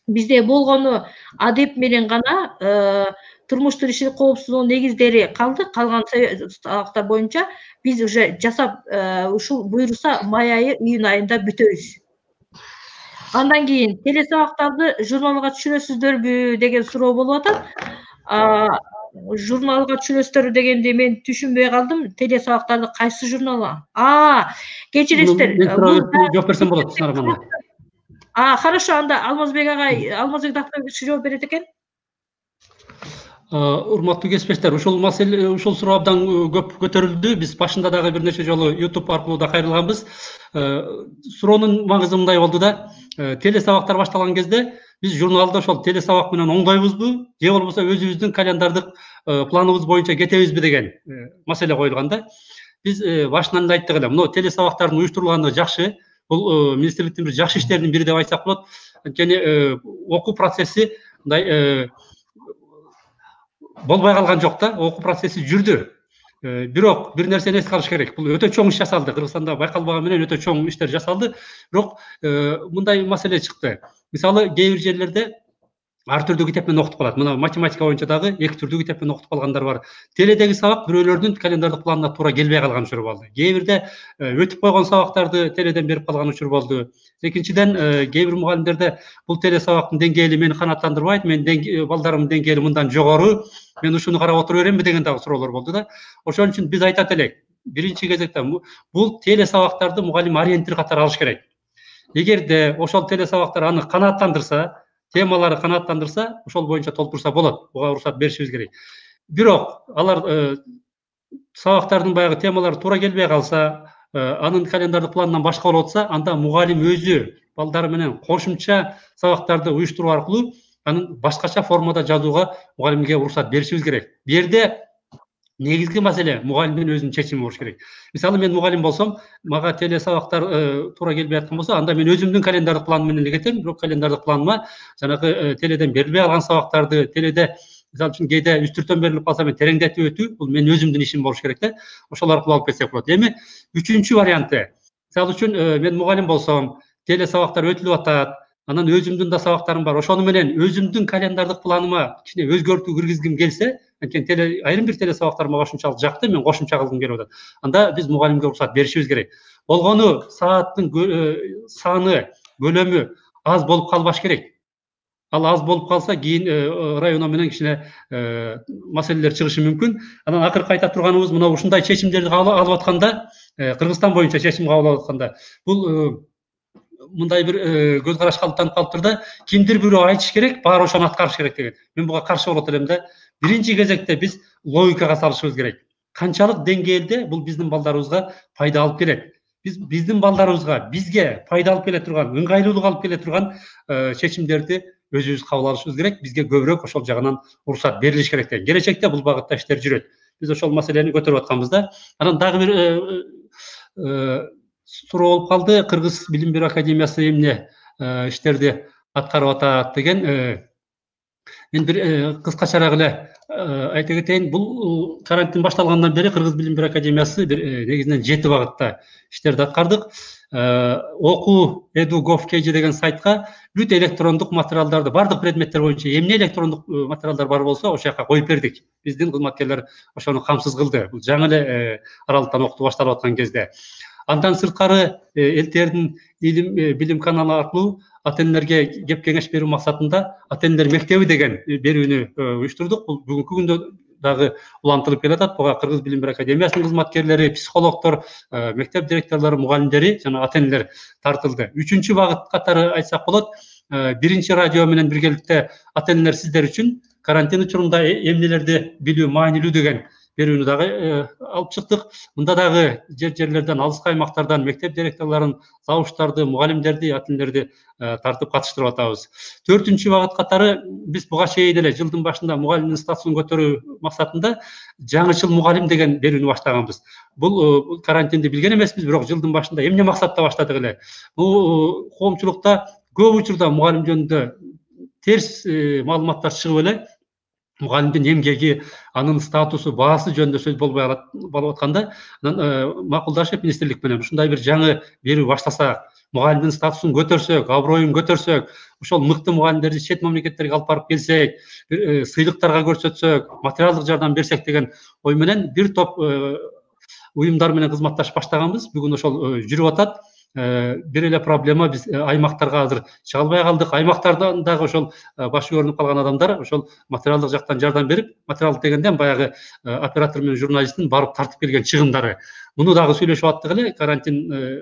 Бизде болгону адеп менен гана турмуш тиричилик коопсуздугунун негиздери калды. Калган сабактар боюнча биз уже жасап, ушул буйруса май айы, июнь айында бүтөбүз. Андан кийин телесабактарды журналга түшүрөсүздөрбү деген суроо болуп атат. Журналга түшүрөсүздөр дегенди мен түшүнбөй калдым. Теле сабактарды кайсы журнал? Кечиресиздер. Жооп берсем болот, Синара мына. Хорошо, анда Алмазбек агай, Алмазбек доктор жооп берет экен. Урматтуу кесиптештер, ушул маселе, ушул суроо абдан көп көтөрүлдү. Биз башында дагы бир нече жолу YouTube аркылуу да кайрылганбыз. Суроонун маңызы мындай болду да, теле сабактар башталган кезде биз журналда ошол теле сабак менен оңдойбузбу, же болбосо өзүбүздүн календардык планыбыз боюнча кетебизби деген маселе коюлган да. Биз башынан эле айттык эле, мына теле сабактардын уюштурулганы жакшы. Бул министрликтин бир жакшы иштеринин бири деп айтсак болот. Анткени окуу процесси мындай болбой калган жок да, окуу процесси жүрдү. Бирок бир нерсени эске алыш керек. Бул өтө чоң иш жасалды. Кыргызстанда байкалбаган менен өтө чоң иштер жасалды. Бирок мындай маселе чыкты. Мисалы, кээ бир жерлерде ар түрдүү китеп менен окутуп калат. Мына математика боюнча дагы эки түрдүү китеп менен окутуп калгандар бар. Теледеги сабак бирөөлөрдүн календардык планына туура келбей калган учур болду. Кээ бирде өтүп койгон сабактарды теледен берип калган учур болду. Экинчиден, кээ бир мугалимдерде бул теле сабактын деңгээли мени канааттандырбайт, менин балдарымдын деңгээли мындан жогору, мен ушуну карап отура беремби деген дагы суроолор болду да. Ошон үчүн биз айтат элек, биринчи кезекте бул теле сабактарды мугалим ориентир катары алыш керек. Эгерде ошол теле сабактар аны канааттандырса, темалары канааттандырса, ошол боюнча толтурса болот. Буга уруксат беришибиз керек. Бирок алар сабактардын баягы темалары туура келбей калса, анын календардык планынан башка болуп атса, анда мугалим өзү балдары менен кошумча сабактарды уюштуруу аркылуу анын башкача формада жазууга мугалимге уруксат беришибиз керек. Бу жерде негизги маселе мугалимдин өзүнүн чечими болуш керек. Мисалы, мен мугалим болсом, мага теле сабактар туура келбей аткан болсо, анда мен өзүмдүн календардык планым менен эле кетем. Бирок календардык планыма жанагы теледен берилбей калган сабактарды, теледе мисалы үчүн кээде үстүртөн берилип калса, мен тереңдетип өтүү, бул менин өзүмдүн ишим болуш керек да. Ошол аркылуу алып кетсек болот. Эми үчүнчү варианты. Мисалы үчүн мен мугалим болсом, теле сабактар өтүлүп атат, анан өзүмдүн да сабактарым бар. Ошону менен өзүмдүн календардык планыма кичине өзгөртүү киргизгим келсе, анткени айрым бир теле сабактар мага ушунчалык жакты, мен кошумча кылгым келип атат. Анда биз мугалимге уруксат беришибиз керек. Болгону сааттын саны, көлөмү аз болуп калбаш керек. Ал аз болуп калса, кийин районо менен кичине маселелер чыгышы мүмкүн. Анан акыркы айта турганыбыз, мына ушундай чечимдерди алып атканда, Кыргызстан боюнча чечим кабыл алып атканда, бул мындай бир көз караш калыптанып калыптыр да, кимдир бирөө айтыш керек, баары ошону аткарыш керек деген. Мен буга каршы болот элем да. Биринчи кезекте биз логикага салышыбыз керек. Канчалык деңгээлде бул биздин балдарыбызга пайда алып келет? Биздин балдарыбызга, бизге пайда алып келе турган, ыңгайлуулук алып келе турган чечимдерди өзүбүз кабыл алышыбыз керек. Бизге көбүрөөк ошол жагынан уруксат берилиш керек деген. Келечекте бул багытта иштер жүрөт. Биз ошол маселени көтөрүп атканбыз да. Анан дагы бир суроо болуп калды. Кыргыз Билим Берүү Академиясы эмне иштерди аткарып атат деген. Мен бир кыскачараак эле айта кетейин. Бул карантин башталгандан бери Кыргыз Билим Берүү Академиясы бир негизинен 7 багытта иштерди аткардык. Окуу edu.gov.kg деген сайтка бүт электрондук материалдарды, бардык предметтер боюнча эмне электрондук материалдар бар болсо, ошол жака коюп бердик. Биздин кызматкерлер ошону камсыз кылды. Бул жаңы эле аралыктан окутуу башталып аткан кезде. Андан сырткары ЛТРдин билим каналы аркылуу ата-энелерге кеп кеңеш берүү максатында ата-энелер мектеби деген берүүнү уюштурдук. Бул бүгүнкү күндө дагы улантылып келатат. Буга Кыргыз Билим Берүү Академиясынын кызматкерлери, психологдор, мектеп директорлору, мугалимдери жана ата-энелер тартылды. Үчүнчү багыт катары айтсак болот, биринчи радио менен биргеликте ата-энелер сиздер үчүн карантин учурунда эмнелерди билүү маанилүү деген берүүнү дагы алып чыктык. Мында дагы жерлерден, алыскы аймактардан мектеп директорлорун, завучтарды, мугалимдерди, ата-энелерди тартып катыштырып атабыз. 4-чү багыт катары биз буга чейин эле жылдын башында мугалимдин статусун көтөрүү максатында жаңычыл мугалим деген берүүнү баштаганбыз. Бул карантинди билген эмеспиз, бирок жылдын башында эмне максатта баштадык эле. Бул коомчулукта көп учурда мугалим жөнүндө терс маалыматтар чыгып эле, мугалимдин эмгеги, анын статусу, баасы жөнүндө сөз болбой болуп атканда, анан макулдашып министрлик менен ушундай бир жаңы берүү баштасак, мугалимдин статусун көтөрсөк, аброюн көтөрсөк, ошол мыкты мугалимдерди чет мамлекеттерге алып барып келсек, сыйлыктарга көрсөтсөк, материалдык жардам берсек деген ой менен бир топ уюмдар менен кызматташып баштаганбыз. Бүгүн ошол жүрүп атат. бир эле проблема биз аймактарга азыр чыга албай калдык. Аймактардан дагы ошол башы көрүнүп калган адамдар ошол материалдык жактан жардам берип, материалдык дегенде баягы оператор менен журналисттин барып тартып келген чыгымдары. Муну дагы сүйлөшүп аттык эле, карантин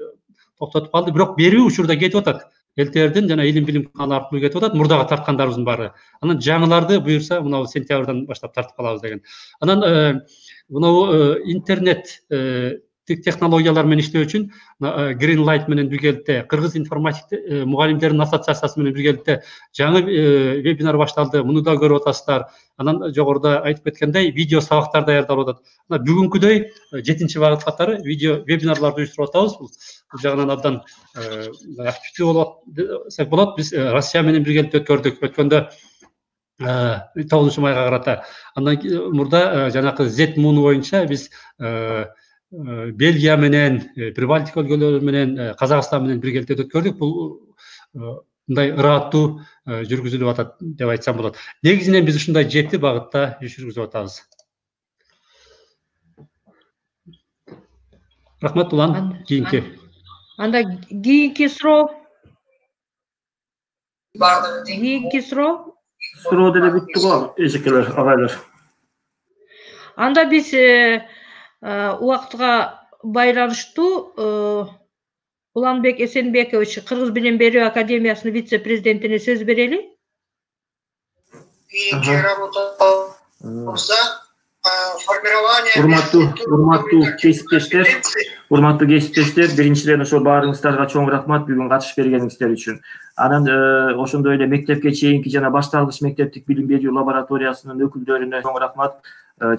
токтотуп калды, бирок берүү учурда кетип атат. ЛТРдин жана илим билим каналы аркылуу кетип атат, мурдагы тарткандарыбыздын баары. Анан жаңыларды буюрса, мына сентябрдан баштап тартып калабыз деген. Анан мына интернет технологиялар менен иштөө үчүн Green Light менен биргеликте Кыргыз информатик мугалимдердин ассоциациясы менен биргеликте жаңы вебинар башталды. Муну да көрүп атасыздар. Анан жогоруда айтып кеткендей видео сабактар даярдалып атат. Бүгүнкүдөй 7-чи багыт катары видео вебинарларды уюштуруп атабыз. Бул жагынан абдан активдүү болот десек болот. Биз Россия менен биргеликте өткөрдүк. Өткөндө 9 майга карата. Андан мурда жанакы Z-Moon боюнча биз Бельгия менен, Прибалтика өлкөлөрү менен, Казакстан менен биргеликте өткөрдүк. Бул мындай ыраттуу жүргүзүлүп атат деп айтсам болот. Негизинен биз ушундай 7 багытта иш жүргүзүп атабыз. Рахмат улан. Кийинки. Анда кийинки суроо. Суроо деле бүттү го, эжекелер, агайлар. Анда биз убактыга байланыштуу Уланбек Эсенбекович Кыргыз билим берүү академиясынын вице-президентине сөз берели. Урматтуу кесиптештер, биринчиден ошо баарыңыздарга чоң рахмат бүгүн катышып бергениңиздер үчүн. Анан ошондой эле мектепке чейинки жана башталгыч мектептик билим берүү лабораториясынын өкүлдөрүнө чоң рахмат.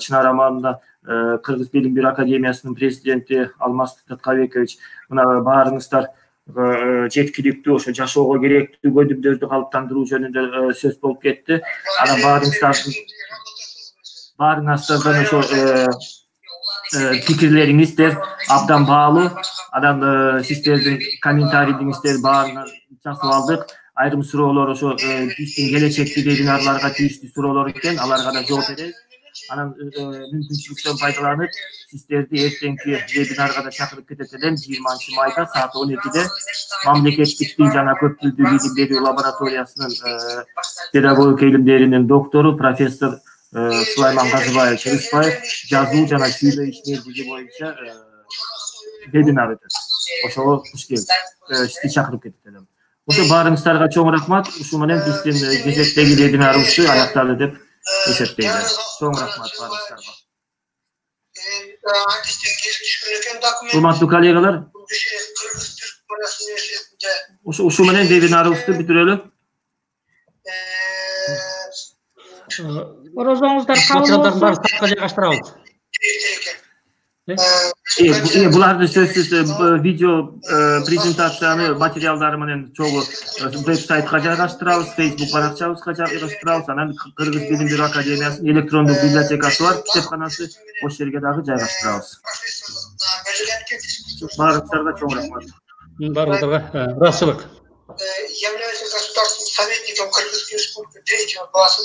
Чынар Амановна, Кыргыз билим берүү академиясынын президенти Алмаз Таткабекович, мына баарыңыздар жеткиликтүү ошо жашоого керектүү көдүмдөрдү калыптандыруу жөнүндө сөз болуп кетти. Анан баарыңыздардан ошо пикирлериңиздер абдан баалуу. Анан сиздердин комментарийлериңиздерди баарын жасап алдык. Айрым суроолор ошо биздин келечекти вебинарларга тийиштүү суроолор экен, аларга да жооп беребиз. Анан мүмкүнчүлүктөн пайдаланып, сиздерди эртеңки вебинарга да чакырып кетет элем. 20-майда саат 12-де мамлекеттик тил жана көп тилдүү билим берүү лабораториясынын педагогика илимдеринин доктору профессор Сулайман Казыбаев Чырыспаев жазуу жана сүйлөө ишмердиги боюнча вебинар өтөт. Ошого куш келип, сизди чакырып кетет элем. Ошо баарыңыздарга чоң рахмат. Ушу менен биздин кезектеги вебинарыбызды аяктады деп эсептейм. Чоң рахмат баарыңыздарга. Урматтуу коллегалар, ушу менен вебинарыбызды бүтүрөлү. Орозоңуздар кабыл болсун. Жайгаштырабыз. Буларды сөзсүз видео презентацияны материалдары менен чогуу веб-сайтка жайгаштырабыз, Facebook баракчабызга жайгаштырабыз. Анан Кыргыз билим берүү академиясынын электрондук библиотекасы бар, китепканасы, ошол жерге дагы жайгаштырабыз. Баарыңыздарга чоң рахмат. Баарыңыздарга ыраазычылык. Являюсь государственным советником Кыргызской республики 3-го класса.